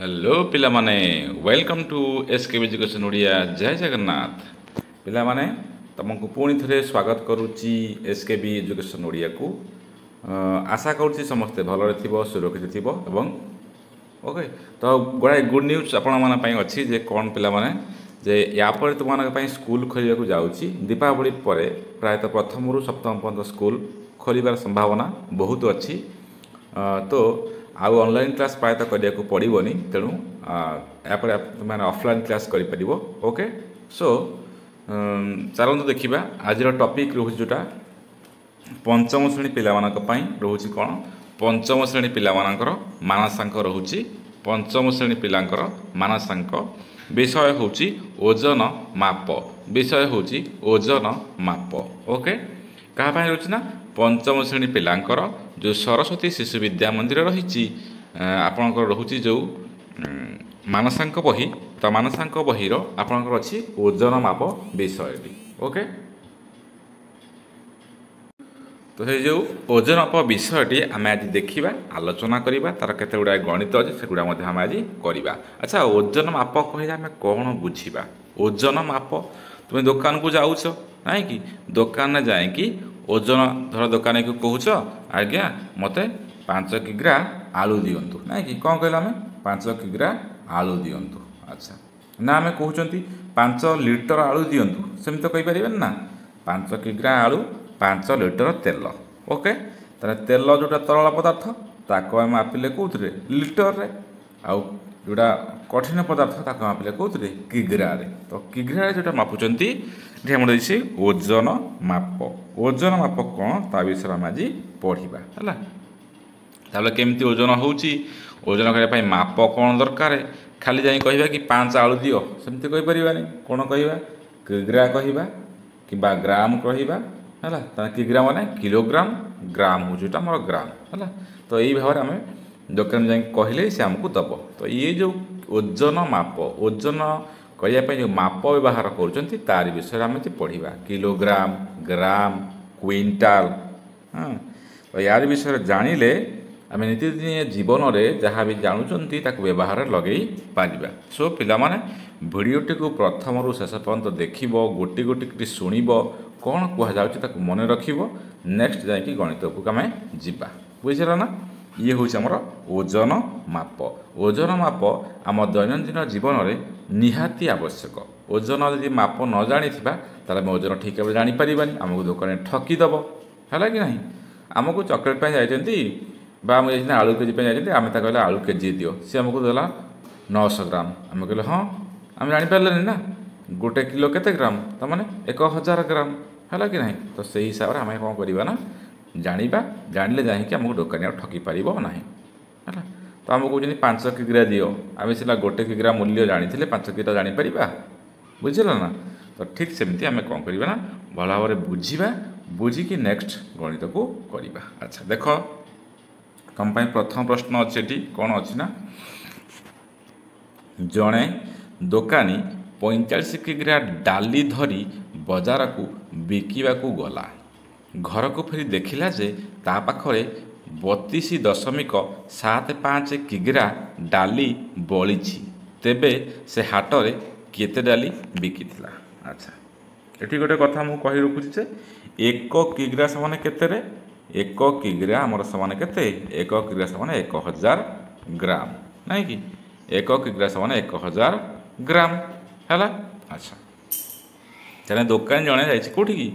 Hello ପିଲାମାନେ, welcome to S K education Odia. ଜୟ ଜଗନ୍ନାଥ। ପିଲାମାନେ, ତୁମକୁ ପୁଣି ଥରେ ସ୍ୱାଗତ କରୁଛି ଏସ୍ କେ ବି ଏଜୁକେସନ୍ ଓଡ଼ିଆକୁ। ଆଶା କରୁଛି ସମସ୍ତେ ଭଲରେ ଥିବ, ସୁରକ୍ଷିତ ଥିବ ଏବଂ ଓକେ। ତ ଗୁଡ଼ାଏ ଗୁଡ୍ ନ୍ୟୁଜ୍ ଆପଣମାନଙ୍କ ପାଇଁ ଅଛି ଯେ କ'ଣ ପିଲାମାନେ, ଯେ ୟା ପରେ ତୁମମାନଙ୍କ ପାଇଁ ସ୍କୁଲ ଖୋଲିବାକୁ ଯାଉଛି। ଦୀପାବଳି ପରେ ପ୍ରାୟତଃ ପ୍ରଥମରୁ ସପ୍ତମ ପର୍ଯ୍ୟନ୍ତ ସ୍କୁଲ ଖୋଲିବାର ସମ୍ଭାବନା ବହୁତ ଅଛି। ତ ଆଉ ଅନଲାଇନ୍ କ୍ଲାସ୍ ପ୍ରାୟତଃ କରିବାକୁ ପଡ଼ିବନି, ତେଣୁ ଏହାପରେ ତୁମେମାନେ ଅଫଲାଇନ୍ କ୍ଲାସ୍ କରିପାରିବ। ଓକେ, ସୋ ଚାଲନ୍ତୁ ଦେଖିବା ଆଜିର ଟପିକ୍ ରହୁଛି ଯେଉଁଟା ପଞ୍ଚମ ଶ୍ରେଣୀ ପିଲାମାନଙ୍କ ପାଇଁ ରହୁଛି। କ'ଣ? ପଞ୍ଚମ ଶ୍ରେଣୀ ପିଲାମାନଙ୍କର ମାନସାଙ୍କ ରହୁଛି। ପଞ୍ଚମ ଶ୍ରେଣୀ ପିଲାଙ୍କର ମାନସାଙ୍କ ବିଷୟ ହେଉଛି ଓଜନ ମାପ। ବିଷୟ ହେଉଛି ଓଜନ ମାପ। ଓକେ, କାହା ପାଇଁ ରହୁଛି ନା ପଞ୍ଚମ ଶ୍ରେଣୀ ପିଲାଙ୍କର ଯେଉଁ ସରସ୍ୱତୀ ଶିଶୁ ବିଦ୍ୟା ମନ୍ଦିର ରହିଛି, ଆପଣଙ୍କର ରହୁଛି ଯେଉଁ ମାନସାଙ୍କ ବହି, ତ ମାନସାଙ୍କ ବହିର ଆପଣଙ୍କର ଅଛି ଓଜନ ମାପ ବିଷୟଟି। ଓକେ, ତ ସେଇ ଯେଉଁ ଓଜନ ମାପ ବିଷୟଟି ଆମେ ଆଜି ଦେଖିବା, ଆଲୋଚନା କରିବା। ତାର କେତେ ଗୁଡ଼ାଏ ଗଣିତ ଅଛି, ସେଗୁଡ଼ା ମଧ୍ୟ ଆମେ ଆଜି କରିବା। ଆଚ୍ଛା, ଓଜନ ମାପ କହିଲେ ଆମେ କ'ଣ ବୁଝିବା? ଓଜନ ମାପ, ତୁମେ ଦୋକାନକୁ ଯାଉଛ ନାଇଁ କି, ଦୋକାନରେ ଯାଇକି ଓଜନ ଧର ଦୋକାନୀକୁ କହୁଛ, ଆଜ୍ଞା ମୋତେ 5 କିଗ୍ରା ଆଳୁ ଦିଅନ୍ତୁ, ନାଇଁ କି? କ'ଣ କହିଲେ ଆମେ? 5 କିଗ୍ରା ଆଳୁ ଦିଅନ୍ତୁ। ଆଚ୍ଛା, ନା ଆମେ କହୁଛନ୍ତି 5 ଲିଟର ଆଳୁ ଦିଅନ୍ତୁ, ସେମିତି ତ କହିପାରିବେନି ନା। 5 କିଗ୍ରା ଆଳୁ, 5 ଲିଟର ତେଲ। ଓକେ, ତାହେଲେ ତେଲ ଯେଉଁଟା ତରଳ ପଦାର୍ଥ ତାକୁ ଆମେ ମାପିଲେ କେଉଁଥିରେ? ଲିଟରରେ। ଆଉ ଯେଉଁଟା କଠିନ ପଦାର୍ଥ ତାକୁ ମାପିଲେ କେଉଁଥିରେ? କିଗ୍ରାରେ। ତ କିଗ୍ରାରେ ଯେଉଁଟା ମାପୁଛନ୍ତି, ଏଠି ଆମର ଦେଇଛି ଓଜନ ମାପ। ଓଜନ ମାପ କ'ଣ ତା ବିଷୟରେ ଆମେ ଆଜି ପଢ଼ିବା। ହେଲା, ତାହେଲେ କେମିତି ଓଜନ ହେଉଛି, ଓଜନ କରିବା ପାଇଁ ମାପ କ'ଣ ଦରକାର? ଖାଲି ଯାଇ କହିବା କି 5 ଆଳୁ ଦିଅ, ସେମିତି କହିପାରିବାନି। କ'ଣ କହିବା? କିଗ୍ରା କହିବା କିମ୍ବା ଗ୍ରାମ କହିବା। ହେଲା, ତାହେଲେ କିଗ୍ରା ମାନେ କିଲୋଗ୍ରାମ, ଗ୍ରାମ ହେଉଛି ଏଇଟା ଆମର ଗ୍ରାମ। ହେଲା, ତ ଏଇ ଭାବରେ ଆମେ ଦୋକାନ ଯାଇକି କହିଲେ ସେ ଆମକୁ ଦେବ। ତ ଇଏ ଯେଉଁ ଓଜନ ମାପ, ଓଜନ କରିବା ପାଇଁ ଯେଉଁ ମାପ ବ୍ୟବହାର କରୁଛନ୍ତି ତାରି ବିଷୟରେ ଆମେ ପଢ଼ିବା। କିଲୋଗ୍ରାମ, ଗ୍ରାମ, କୁଇଣ୍ଟାଲ। ହଁ, ତ ୟାରି ବିଷୟରେ ଜାଣିଲେ ଆମେ ନିତିଦିନିଆ ଜୀବନରେ ଯାହା ବି ଜାଣୁଛନ୍ତି ତାକୁ ବ୍ୟବହାରରେ ଲଗେଇ ପାରିବା। ସୋ ପିଲାମାନେ, ଭିଡ଼ିଓଟିକୁ ପ୍ରଥମରୁ ଶେଷ ପର୍ଯ୍ୟନ୍ତ ଦେଖିବ, ଗୋଟି ଗୋଟି କରି ଶୁଣିବ, କ'ଣ କୁହାଯାଉଛି ତାକୁ ମନେ ରଖିବ। ନେକ୍ସଟ ଯାଇକି ଗଣିତକୁ ଆମେ ଯିବା। ବୁଝିଲା ନା? ଇଏ ହେଉଛି ଆମର ଓଜନ ମାପ। ଓଜନ ମାପ ଆମ ଦୈନନ୍ଦିନ ଜୀବନରେ ନିହାତି ଆବଶ୍ୟକ। ଓଜନ ଯଦି ମାପ ନ ଜାଣିଥିବା ତାହେଲେ ଆମେ ଓଜନ ଠିକ୍ ଭାବରେ ଜାଣିପାରିବାନି, ଆମକୁ ଦୋକାନରେ ଠକିଦେବ। ହେଲା କି ନାହିଁ? ଆମକୁ ଚକୋଲେଟ୍ ପାଇଁ ଯାଇଛନ୍ତି ବା ଆମେ ଯାଇଛନ୍ତି ଆଳୁ କେଜି ପାଇଁ ଯାଇଛନ୍ତି, ଆମେ ତାକୁ କହିଲେ ଆଳୁ କେଜି ଦିଅ, ସେ ଆମକୁ ଦେଲା 900 ଗ୍ରାମ। ଆମେ କହିଲେ ହଁ, ଆମେ ଜାଣିପାରିଲେନି ନା ଗୋଟେ କିଲୋ କେତେ ଗ୍ରାମ, ତାମାନେ 1000 ଗ୍ରାମ। ହେଲା କି ନାହିଁ? ତ ସେଇ ହିସାବରେ ଆମେ କ'ଣ କରିବା ନା ଜାଣିବା, ଜାଣିଲେ ଯାଇକି ଆମକୁ ଦୋକାନୀ ଆଉ ଠକି ପାରିବ ନାହିଁ। ହେଲା, ତ ଆମକୁ କହୁଛନ୍ତି 5 କିଗ୍ରା ଦିଅ, ଆମେ ସିନା ଗୋଟେ କିଗ୍ରା ମୂଲ୍ୟ ଜାଣିଥିଲେ 5 କିଗ୍ରା ଜାଣିପାରିବା। ବୁଝିଲ ନା? ତ ଠିକ୍ ସେମିତି ଆମେ କ'ଣ କରିବା ନା ଭଲ ଭାବରେ ବୁଝିବା, ବୁଝିକି ନେକ୍ସଟ ଗଣିତକୁ କରିବା। ଆଚ୍ଛା ଦେଖ, ତୁମ ପାଇଁ ପ୍ରଥମ ପ୍ରଶ୍ନ ଅଛି ଏଠି। କ'ଣ ଅଛି ନା ଜଣେ ଦୋକାନୀ 45 କିଗ୍ରା ଡାଲି ଧରି ବଜାରକୁ ବିକିବାକୁ ଗଲା। ଘରକୁ ଫେରି ଦେଖିଲା ଯେ ତା ପାଖରେ 32.75 କିଗ୍ରା ଡାଲି ବଳିଛି। ତେବେ ସେ ହାଟରେ କେତେ ଡାଲି ବିକିଥିଲା? ଆଚ୍ଛା, ଏଠି ଗୋଟେ କଥା ମୁଁ କହି ରଖୁଛି ଯେ 1 କିଗ୍ରା ସମାନ କେତେରେ? 1 କିଗ୍ରା ଆମର ସମାନ କେତେ? 1 କିଗ୍ରା ସମାନ 1000 ଗ୍ରାମ, ନାଇଁ କି? 1 କିଗ୍ରା ସମାନ 1000 ଗ୍ରାମ ହେଲା। ଆଚ୍ଛା, ତାହେଲେ ଦୋକାନୀ ଜଣେ ଯାଇଛି କେଉଁଠିକି?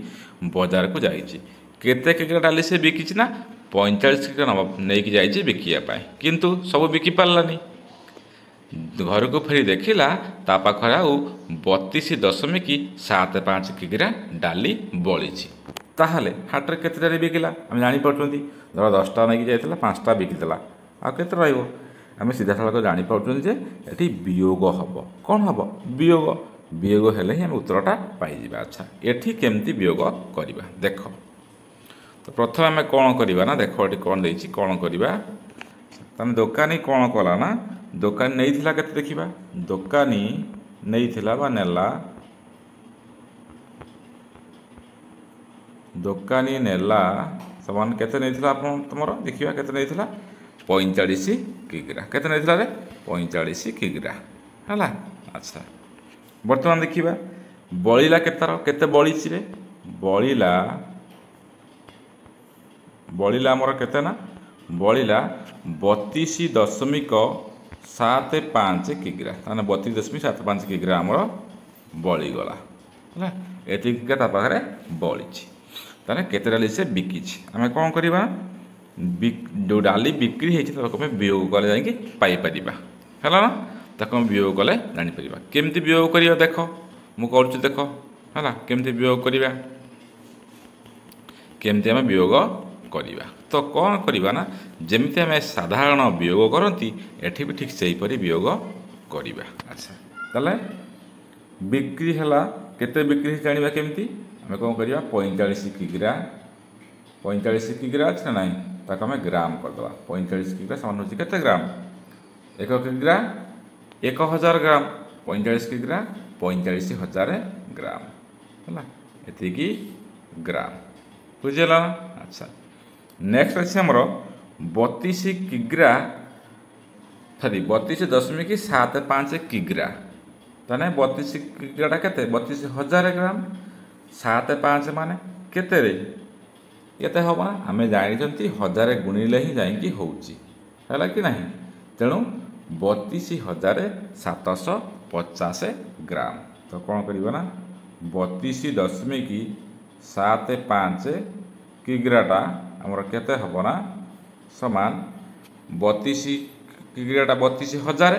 ବଜାରକୁ ଯାଇଛି। କେତେ କିଗ୍ରା ଡାଲି ସେ ବିକିଛି ନା 45 କିଗ୍ରା ନେଇକି ଯାଇଛି ବିକିବା ପାଇଁ, କିନ୍ତୁ ସବୁ ବିକି ପାରିଲାନି। ଘରକୁ ଫେରି ଦେଖିଲା ତା ପାଖରେ ଆଉ 32.75 କିଗ୍ରା ଡାଲି ବଳିଛି। ତାହେଲେ ହାଟରେ କେତେ ଡାଲି ବିକିଲା ଆମେ ଜାଣିପାରୁଛନ୍ତି। ଧର 10ଟା ନେଇକି ଯାଇଥିଲା, 5ଟା ବିକିଦେଲା, ଆଉ କେତେ ରହିବ? ଆମେ ସିଧାସଳଖ ଜାଣିପାରୁଛନ୍ତି ଯେ ଏଠି ବିୟୋଗ ହେବ। କ'ଣ ହେବ? ବିୟୋଗ। ବିୟୋଗ ହେଲେ ହିଁ ଆମେ ଉତ୍ତରଟା ପାଇଯିବା। ଆଚ୍ଛା, ଏଠି କେମିତି ବିୟୋଗ କରିବା ଦେଖ। ତ ପ୍ରଥମେ ଆମେ କ'ଣ କରିବା ନା ଦେଖ ଏଠି କ'ଣ ଦେଇଛି, କ'ଣ କରିବା। ତାହେଲେ ଦୋକାନୀ କ'ଣ କଲା ନା ଦୋକାନୀ ନେଇଥିଲା କେତେ ଦେଖିବା। ଦୋକାନୀ ନେଇଥିଲା ବା ନେଲା, ଦୋକାନୀ ନେଲା ସମାନ କେତେ ନେଇଥିଲା ଆପଣ ତୁମର ଦେଖିବା କେତେ ନେଇଥିଲା? 45 କିଗ୍ରା। କେତେ ନେଇଥିଲା ରେ? 45 କିଗ୍ରା। ହେଲା। ଆଚ୍ଛା, ବର୍ତ୍ତମାନ ଦେଖିବା ବଳିଲା କେତେର, କେତେ ବଳିଛି ରେ? ବଳିଲା ବଳିଲା ଆମର କେତେ ନା ବଳିଲା 32.75 କିଗ୍ରା। ତାହେଲେ 32.75 କିଗ୍ରା ଆମର ବଳିଗଲା। ହେଲା, ଏତିକି କିଗ୍ରା ତା ପାଖରେ ବଳିଛି। ତାହେଲେ କେତେ ଡାଲି ସେ ବିକିଛି? ଆମେ କ'ଣ କରିବା? ଯେଉଁ ଡାଲି ବିକ୍ରି ହେଇଛି ତାକୁ ଆମେ ବିୟୋଗ କଲେ ଯାଇକି ପାଇପାରିବା। ହେଲା ନା? ତାକୁ ଆମେ ବିୟୋଗ କଲେ ଜାଣିପାରିବା। କେମିତି ବିୟୋଗ କରିବା ଦେଖ, ମୁଁ କରୁଛି ଦେଖ। ହେଲା, କେମିତି ବିୟୋଗ କରିବା, କେମିତି ଆମେ ବିୟୋଗ କରିବା? ତ କ'ଣ କରିବା ନା, ଯେମିତି ଆମେ ସାଧାରଣ ବିୟୋଗ କରନ୍ତି ଏଠି ବି ଠିକ୍ ସେହିପରି ବିୟୋଗ କରିବା। ଆଚ୍ଛା, ତାହେଲେ ବିକ୍ରି ହେଲା କେତେ ବିକ୍ରି ହେଇଛି ଜାଣିବା କେମିତି? ଆମେ କ'ଣ କରିବା? 45 କିଗ୍ରା, 45 କିଗ୍ରା ଅଛି ନା ନାହିଁ, ତାକୁ ଆମେ ଗ୍ରାମ କରିଦେବା। 45 କିଗ୍ରା ସମାନ ହେଉଛି କେତେ ଗ୍ରାମ? 1 କିଗ୍ରା 1000 ଗ୍ରାମ। 45 କିଗ୍ରା 45,000 ଗ୍ରାମ। ହେଲା, ଏତିକି ଗ୍ରାମ। ବୁଝିହେଲା ନା? ଆଚ୍ଛା, ନେକ୍ସଟ ଅଛି ଆମର 32 କିଗ୍ରା, ସରି 32.75 କିଗ୍ରା। ତାହେଲେ 32 କିଗ୍ରାଟା କେତେ? 32,000 ଗ୍ରାମ। 75 ମାନେ କେତେରେ କେତେ ହେବ ନା, ଆମେ ଜାଣିଛନ୍ତି 1000 ଗୁଣିଲେ ହିଁ ଯାଇକି ହେଉଛି। ହେଲା କି ନାହିଁ? ତେଣୁ 32,750 ଗ୍ରାମ। ତ କ'ଣ କରିବା ନା, 32.75 କିଗ୍ରାଟା ଆମର କେତେ ହେବ ନା ସମାନ 32 କିଗ୍ରାଟା 32,000,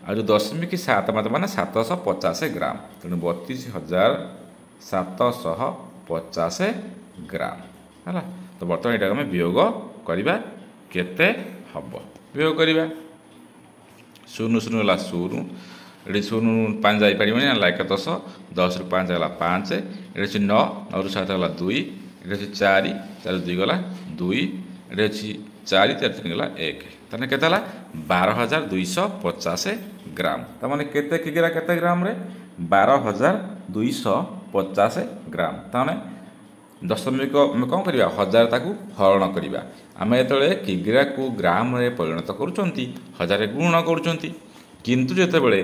ଆଉ ଯେଉଁ 0.75 ମାନେ 750 ଗ୍ରାମ। ତେଣୁ 32,750 ଗ୍ରାମ। ହେଲା, ତ ବର୍ତ୍ତମାନ ଏଇଟାକୁ ଆମେ ବିୟୋଗ କରିବା, କେତେ ହେବ? ବିୟୋଗ କରିବା, 0 0 ହେଲା 0, ଏଠି 0 5 ଯାଇପାରିବନି, ହେଲା 1 10, 10ରୁ 5 ଗଲା 5, ଏଠି ଅଛି 9, 9ରୁ 7 ଗଲା 2, ଏଠି ଅଛି 4, 4 2 ଗଲା 2, ଏଠି ଅଛି 4, 4 3 ଗଲା 1। ତାହେଲେ କେତେ ହେଲା? 12,250 ଗ୍ରାମ। ତାମାନେ କେତେ କିଗ୍ରା କେତେ ଗ୍ରାମରେ? 12,250 ଗ୍ରାମ। ତାମାନେ ଦଶମିକ ଆମେ କ'ଣ କରିବା? 1000 ତାକୁ ହରଣ କରିବା। ଆମେ ଯେତେବେଳେ କିଗ୍ରାକୁ ଗ୍ରାମରେ ପରିଣତ କରୁଛନ୍ତି 1000 ଗୁଣ କରୁଛନ୍ତି, କିନ୍ତୁ ଯେତେବେଳେ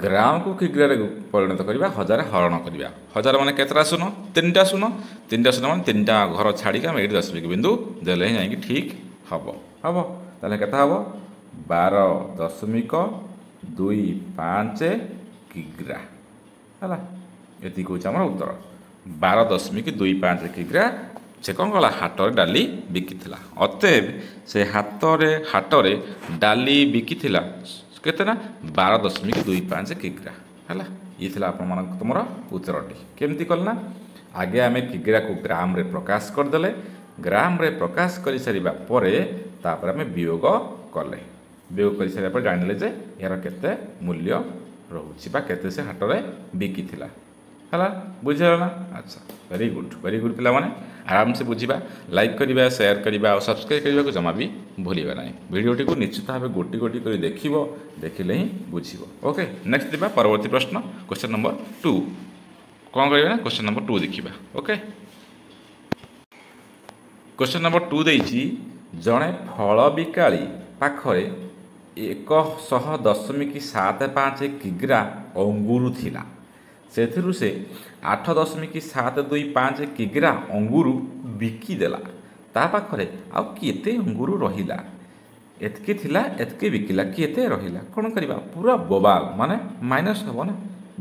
ଗ୍ରାମକୁ କିଗ୍ରାରେ ପରିଣତ କରିବା 1000 ହରଣ କରିବା। 1000 ମାନେ କେତେଟା ଶୂନ? 3ଟା ଶୂନ। 3ଟା ଶୂନ ମାନେ 3ଟା ଘର ଛାଡ଼ିକି ଆମେ ଏଇଠି ଦଶମିକ ବିନ୍ଦୁ ଦେଲେ ହିଁ ଯାଇକି ଠିକ୍ ହେବ। ହେବ, ତାହେଲେ କେତେ ହେବ? 12.25 କିଗ୍ରା। ହେଲା, ଏତିକି ହେଉଛି ଆମର ଉତ୍ତର। 12.25 କିଗ୍ରା ସେ କ'ଣ କଲା? ହାଟରେ ଡାଲି ବିକିଥିଲା। ଅତଏବ ସେ ହାଟରେ ଡାଲି ବିକିଥିଲା କେତେ ନା 12.25 କିଗ୍ରା। ହେଲା, ଇଏ ଥିଲା ଆପଣମାନଙ୍କ ତୁମର ଉତ୍ତରଟି। କେମିତି କଲେ ନା, ଆଗେ ଆମେ କିଗ୍ରାକୁ ଗ୍ରାମରେ ପ୍ରକାଶ କରିଦେଲେ, ଗ୍ରାମରେ ପ୍ରକାଶ କରିସାରିବା ପରେ ତାପରେ ଆମେ ବିୟୋଗ କଲେ। ବିୟୋଗ କରିସାରିବା ପରେ ଜାଣିଲେ ଯେ ଏହାର କେତେ ମୂଲ୍ୟ ରହୁଛି ବା କେତେ ସେ ହାଟରେ ବିକିଥିଲା। ହେଲା, ବୁଝିହେଲା ନା? ଆଚ୍ଛା, ଭେରି ଗୁଡ୍, ଭେରି ଗୁଡ୍ ପିଲାମାନେ, ଆରାମସେ ବୁଝିବା। ଲାଇକ୍ କରିବା, ସେୟାର କରିବା ଆଉ ସବସ୍କ୍ରାଇବ୍ କରିବାକୁ ଜମା ବି ଭୁଲିବା ନାହିଁ। ଭିଡ଼ିଓଟିକୁ ନିଶ୍ଚିତ ଭାବେ ଗୋଟି ଗୋଟି କରି ଦେଖିବ, ଦେଖିଲେ ହିଁ ବୁଝିବ। ଓକେ, ନେକ୍ସଟ ଯିବା ପରବର୍ତ୍ତୀ ପ୍ରଶ୍ନ, କ୍ୱେଶ୍ଚନ୍ ନମ୍ବର 2। କ'ଣ କରିବା ନା, କ୍ୱେଶ୍ଚନ୍ ନମ୍ବର 2 ଦେଖିବା। ଓକେ, କ୍ୱେଶ୍ଚନ୍ ନମ୍ବର 2 ଦେଇଛି, ଜଣେ ଫଳ ବିକାଳି ପାଖରେ 100.75 କିଗ୍ରା ଅଙ୍ଗୁର ଥିଲା, ସେଥିରୁ ସେ 8.725 କିଗ୍ରା ଅଙ୍ଗୁର ବିକିଦେଲା, ତା ପାଖରେ ଆଉ କେତେ ଅଙ୍ଗୁର ରହିଲା? ଏତିକି ଥିଲା, ଏତିକି ବିକିଲା, କେତେ ରହିଲା? କ'ଣ କରିବା? ପୁରା ବୋବାଲ, ମାନେ ମାଇନସ୍ ହେବ ନା,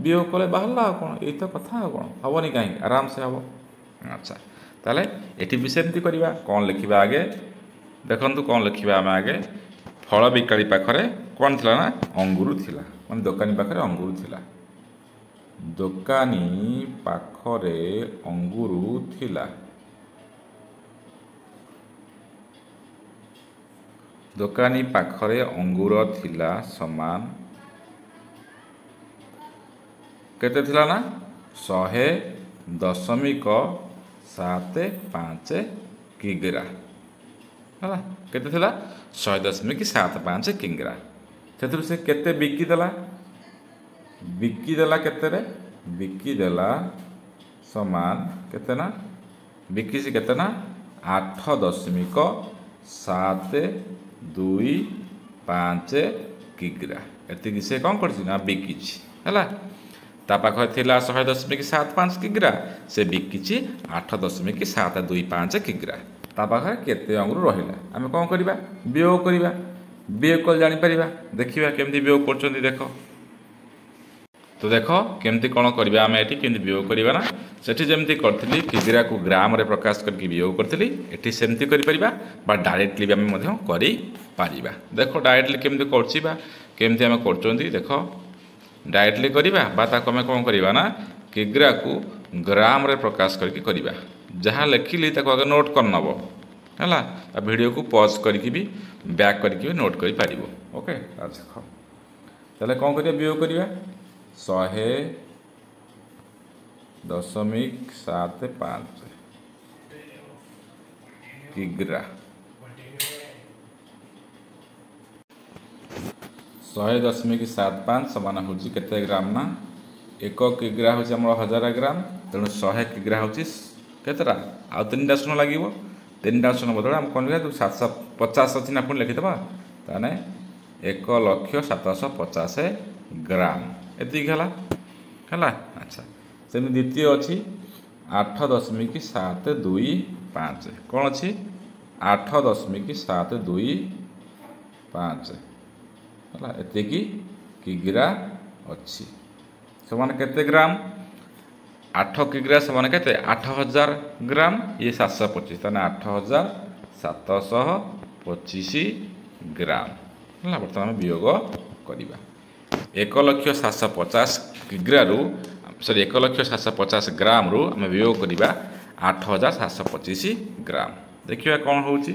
ବିୟୋଗ କଲେ ବାହାରିଲା ଆଉ କ'ଣ, ଏଇ ତ କଥା, ଆଉ କ'ଣ ହେବନି କାହିଁକି, ଆରାମସେ ହେବ। ଆଚ୍ଛା, ତାହେଲେ ଏଠି ବି ସେମିତି କରିବା। କ'ଣ ଲେଖିବା ଆଗେ? ଦେଖନ୍ତୁ କ'ଣ ଲେଖିବା ଆମେ ଆଗେ। ଫଳ ବିକାଳି ପାଖରେ କ'ଣ ଥିଲା ନା ଅଙ୍ଗୁର ଥିଲା, ମାନେ ଦୋକାନୀ ପାଖରେ ଅଙ୍ଗୁର ଥିଲା। ଦୋକାନୀ ପାଖରେ ଅଙ୍ଗୁର ଥିଲା। ଦୋକାନୀ ପାଖରେ ଅଙ୍ଗୁର ଥିଲା ସମାନ କେତେ ଥିଲା ନା 100.75 କିଗ୍ରା। ହେଲା, କେତେ ଥିଲା? 100.75 କିଗ୍ରା। ସେଥିରୁ ସେ କେତେ ବିକିଦେଲା? ବିକିଦେଲା କେତେରେ? ବିକିଦେଲା ସମାନ କେତେ ନା, ବିକିଛି କେତେ ନା 8.725 5 କିଗ୍ରା। ଏତିକି ସେ କ'ଣ କରିଛି ନା ବିକିଛି। ହେଲା, ତା ପାଖରେ ଥିଲା 100.75 କିଗ୍ରା, ସେ ବିକିଛି 8.725 କିଗ୍ରା। ତା ପାଖରେ କେତେ ଅଙ୍ଗୁର ରହିଲା? ଆମେ କ'ଣ କରିବା? ବିୟୋଗ କରିବା। ବିୟୋଗ କଲେ ଜାଣିପାରିବା। ଦେଖିବା କେମିତି ବିୟୋଗ କରୁଛନ୍ତି। ଦେଖ ତ, ଦେଖ କେମିତି କ'ଣ କରିବା ଆମେ ଏଠି, କେମିତି ବିୟୋଗ କରିବା ନା, ସେଠି ଯେମିତି କରିଥିଲି କିଗ୍ରାକୁ ଗ୍ରାମରେ ପ୍ରକାଶ କରିକି ବିୟୋଗ କରିଥିଲି, ଏଠି ସେମିତି କରିପାରିବା ବା ଡାଇରେକ୍ଟଲି ବି ଆମେ ମଧ୍ୟ କରିପାରିବା। ଦେଖ ଡାଇରେକ୍ଟଲି କେମିତି କରୁଛି ବା କେମିତି ଆମେ କରୁଛନ୍ତି। ଦେଖ, ଡାଇରେକ୍ଟଲି କରିବା ବା ତାକୁ ଆମେ କ'ଣ କରିବା ନା କିଗ୍ରାକୁ ଗ୍ରାମରେ ପ୍ରକାଶ କରିକି କରିବା। ଯାହା ଲେଖିଲି ତାକୁ ଆଗେ ନୋଟ୍ କରିନେବ, ହେଲା? ଆଉ ଭିଡ଼ିଓକୁ ପଜ୍ କରିକି ବି, ବ୍ୟାକ୍ କରିକି ବି ନୋଟ୍ କରିପାରିବ। ଓକେ, ଆଚ୍ଛା, ତାହେଲେ କ'ଣ କରିବା? ବିୟୋଗ କରିବା। 100.75 କିଗ୍ରା, 100.75 ସମାନ ହେଉଛି କେତେ ଗ୍ରାମ ନା, 1 କିଗ୍ରା ହେଉଛି ଆମର 1000 ଗ୍ରାମ। ତେଣୁ 100 କିଗ୍ରା ହେଉଛି କେତେଟା? ଆଉ 3ଟା ଶୂନ ଲାଗିବ। 3ଟା ଶୂନ ବଦଳରେ ଆମେ କ'ଣ ଲେଖିବା? 750 ଅଛି ନା, ପୁଣି ଲେଖିଦେବା। ତାହେଲେ 1,00,750 ଗ୍ରାମ, ଏତିକି ହେଲା। ହେଲା, ଆଚ୍ଛା, ସେମିତି ଦ୍ୱିତୀୟ ଅଛି 8.725। କ'ଣ ଅଛି? 8.725 ହେଲା, ଏତିକି କିଗ୍ରା ଅଛି, ସେମାନେ କେତେ ଗ୍ରାମ? 8 କିଗ୍ରା ସମାନ କେତେ? 8000 ଗ୍ରାମ। ଇଏ 725, ତାହେଲେ 8725 ଗ୍ରାମ ହେଲା। ବର୍ତ୍ତମାନ ଆମେ ବିୟୋଗ କରିବା। 1,00,750 କିଗ୍ରାରୁ, ସରି, 1,00,750 ଗ୍ରାମରୁ ଆମେ ବିୟୋଗ କରିବା 8725 ଗ୍ରାମ। ଦେଖିବା କ'ଣ ହେଉଛି।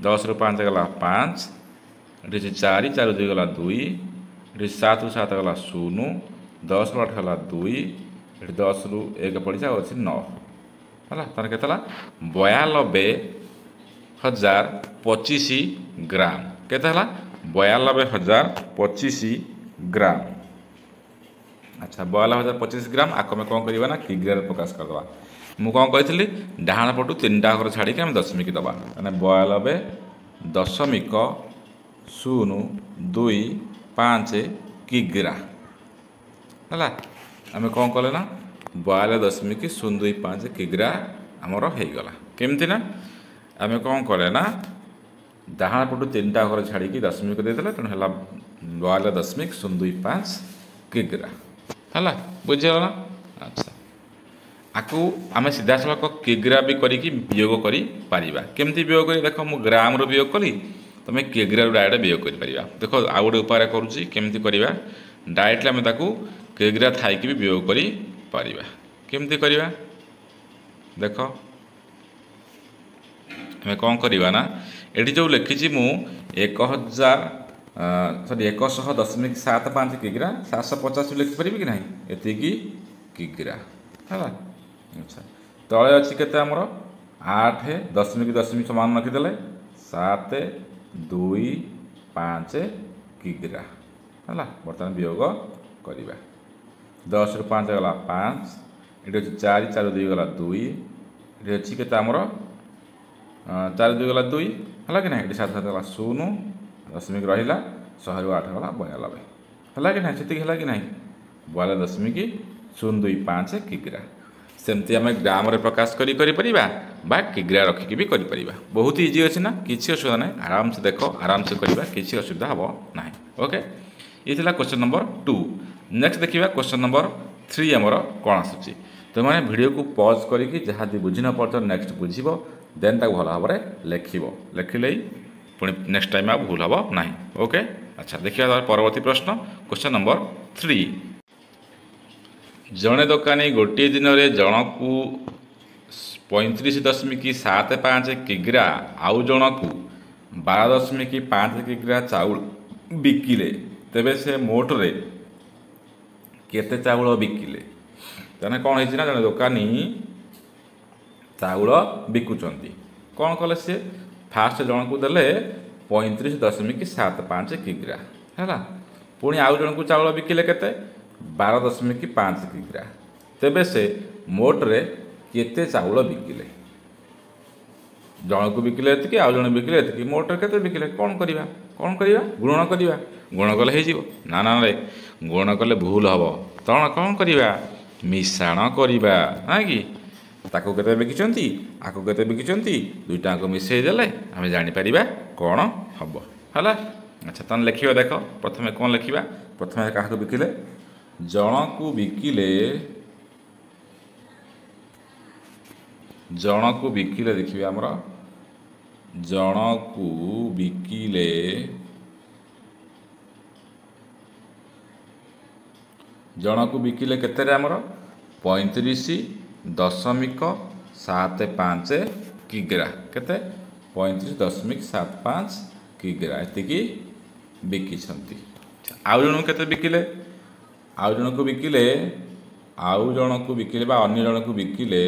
10ରୁ 5 ଗଲା 5, ଏଠି ଅଛି 4, 4 2 ଗଲା 2, ଏଠି 7ରୁ 7 ଗଲା 0, 10ରୁ 8 ଗଲା 2, ଏଠି 10ରୁ 1 ପଡ଼ିଛି, ଆଉ ଅଛି 9। ହେଲା, ତାହେଲେ କେତେ ହେଲା? 92,025 ଗ୍ରାମ। କେତେ ହେଲା? 92,025 ଗ୍ରାମ। ଆଚ୍ଛା, 92,025 ଗ୍ରାମ, ଆକୁ ଆମେ କ'ଣ କରିବା ନା କିଗ୍ରାରେ ପ୍ରକାଶ କରିଦେବା। ମୁଁ କ'ଣ କହିଥିଲି? ଡାହାଣ ପଟୁ 3ଟା ଘର ଛାଡ଼ିକି ଆମେ ଦଶମିକ ଦେବା। ମାନେ 92.025 କିଗ୍ରା ହେଲା। ଆମେ କ'ଣ କଲେ ନା 92.025 କିଗ୍ରା ଆମର ହେଇଗଲା। କେମିତି ନା ଆମେ କ'ଣ କଲେ ନା ଡାହାଣ ପଟୁ 3ଟା ଘର ଛାଡ଼ିକି ଦଶମିକ ଦେଇଦେଲେ, ତେଣୁ ହେଲା 92.025 କିଗ୍ରା। ହେଲା, ବୁଝିଗଲା ନା? ଆଚ୍ଛା, ଆକୁ ଆମେ ସିଧାସଳଖ କିଗ୍ରା ବି କରିକି ବିୟୋଗ କରିପାରିବା। କେମିତି ବିୟୋଗ କରି? ଦେଖ, ମୁଁ ଗ୍ରାମରୁ ବିୟୋଗ କଲି, ତୁମେ କିଗ୍ରାରୁ ଡାଇରେକ୍ଟ ବିୟୋଗ କରିପାରିବା। ଦେଖ, ଆଉ ଗୋଟେ ଉପାୟରେ କରୁଛି, କେମିତି କରିବା। ଡାଇରେକ୍ଟଲି ଆମେ ତାକୁ କିଗ୍ରା ଥାଇକି ବି ବିୟୋଗ କରିପାରିବା। କେମିତି କରିବା? ଦେଖ, ଆମେ କ'ଣ କରିବା ନା ଏଠି ଯେଉଁ ଲେଖିଛି ମୁଁ 1000, ସରି, 100.75 କିଗ୍ରା, 750 ଲେଖିପାରିବି କି ନାହିଁ? ଏତିକି କିଗ୍ରା ହେଲା। ଆଚ୍ଛା, ତଳେ ଅଛି କେତେ ଆମର? 8 ଦଶମିକ ଦଶମିକ ସମାନ ରଖିଦେଲେ 7 2 5 କିଗ୍ରା ହେଲା। ବର୍ତ୍ତମାନ ବିୟୋଗ କରିବା। 10ରୁ 5 ଗଲା 5, ଏଠି ଅଛି 4, 4 2 ଗଲା 2, ଏଠି ଅଛି କେତେ ଆମର? 4 2 ଗଲା 2, ହେଲା କି ନାହିଁ? ଏଠି 7 7 ଗଲା 0, ଦଶମିକ ରହିଲା, 100ରୁ 8 ଗଲା 92। ହେଲା କି ନାହିଁ? ସେତିକି ହେଲା କି ନାହିଁ? 92.025 କିଗ୍ରା। ସେମିତି ଆମେ ଗ୍ରାମରେ ପ୍ରକାଶ କରି କରିପାରିବା ବା କିଗ୍ରା ରଖିକି ବି କରିପାରିବା। ବହୁତ ଇଜି ଅଛି ନା? କିଛି ଅସୁବିଧା ନାହିଁ। ଆରାମସେ ଦେଖ, ଆରାମସେ କରିବା, କିଛି ଅସୁବିଧା ହେବ ନାହିଁ। ଓକେ, ଇଏ ଥିଲା କ୍ୱେଶ୍ଚନ୍ ନମ୍ବର 2। ନେକ୍ସଟ ଦେଖିବା କ୍ୱେଶ୍ଚନ୍ ନମ୍ବର 3 ଆମର କ'ଣ ଆସୁଛି। ତୁମେ ଭିଡ଼ିଓକୁ ପଜ୍ କରିକି ଯାହା ଯଦି ବୁଝି ନ ପାରୁଛ, ନେକ୍ସଟ ବୁଝିବ, ଦେନ୍ ତାକୁ ଭଲ ଭାବରେ ଲେଖିବ। ଲେଖିଲେ ପୁଣି ନେକ୍ସଟ ଟାଇମ୍ ଆଉ ଭୁଲ ହେବ ନାହିଁ। ଓକେ, ଆଚ୍ଛା, ଦେଖିବା ତାର ପରବର୍ତ୍ତୀ ପ୍ରଶ୍ନ, କ୍ୱେଶ୍ଚନ୍ ନମ୍ବର 3। ଜଣେ ଦୋକାନୀ ଗୋଟିଏ ଦିନରେ ଜଣକୁ 35.75 କିଗ୍ରା ଆଉ ଜଣକୁ 12.5 କିଗ୍ରା ଚାଉଳ ବିକିଲେ, ତେବେ ସେ ମୋଟରେ କେତେ ଚାଉଳ ବିକିଲେ? ତାହେଲେ କ'ଣ ହେଇଛି ନା ଜଣେ ଦୋକାନୀ ଚାଉଳ ବିକୁଛନ୍ତି। କ'ଣ କଲେ ସେ? ଫାଷ୍ଟ ଜଣକୁ ଦେଲେ 35.75 କିଗ୍ରା, ହେଲା? ପୁଣି ଆଉ ଜଣକୁ ଚାଉଳ ବିକିଲେ କେତେ? 12.5 କିଗ୍ରା। ତେବେ ସେ ମୋଟରେ କେତେ ଚାଉଳ ବିକିଲେ? ଜଣକୁ ବିକିଲେ ଏତିକି, ଆଉ ଜଣେ ବିକିଲେ ଏତିକି, ମୋଟରେ କେତେ ବିକିଲେ? କ'ଣ କରିବା? କ'ଣ କରିବା? ଗୁଣନ କରିବା। ଗୁଣ କଲେ ହେଇଯିବ? ନା ନା ରେ, ଗୁଣନ କଲେ ଭୁଲ ହେବ। ତଣ କ'ଣ କରିବା? ମିଶାଣ କରିବା, ନା କି? ତାକୁ କେତେ ବିକିଛନ୍ତି, ଆକୁ କେତେ ବିକିଛନ୍ତି, ଦୁଇଟାକୁ ମିଶାଇ ଦେଲେ ଆମେ ଜାଣିପାରିବା କ'ଣ ହେବ। ହେଲା? ଆଚ୍ଛା, ତାହେଲେ ଲେଖିବା। ଦେଖ, ପ୍ରଥମେ କ'ଣ ଲେଖିବା? ପ୍ରଥମେ କାହାକୁ ବିକିଲେ? ଜଣକୁ ବିକିଲେ, ଜଣକୁ ବିକିଲେ, ଦେଖିବେ ଆମର ଜଣକୁ ବିକିଲେ, ଜଣକୁ ବିକିଲେ କେତେରେ? ଆମର 35.75 କିଗ୍ରା। କେତେ? 35.75 କିଗ୍ରା, ଏତିକି ବିକିଛନ୍ତି। ଆଉ ଜଣକୁ କେତେ ବିକିଲେ? ଆଉ ଜଣକୁ ବିକିଲେ, ଆଉ ଜଣକୁ ବିକିଲେ ବା ଅନ୍ୟ ଜଣକୁ ବିକିଲେ,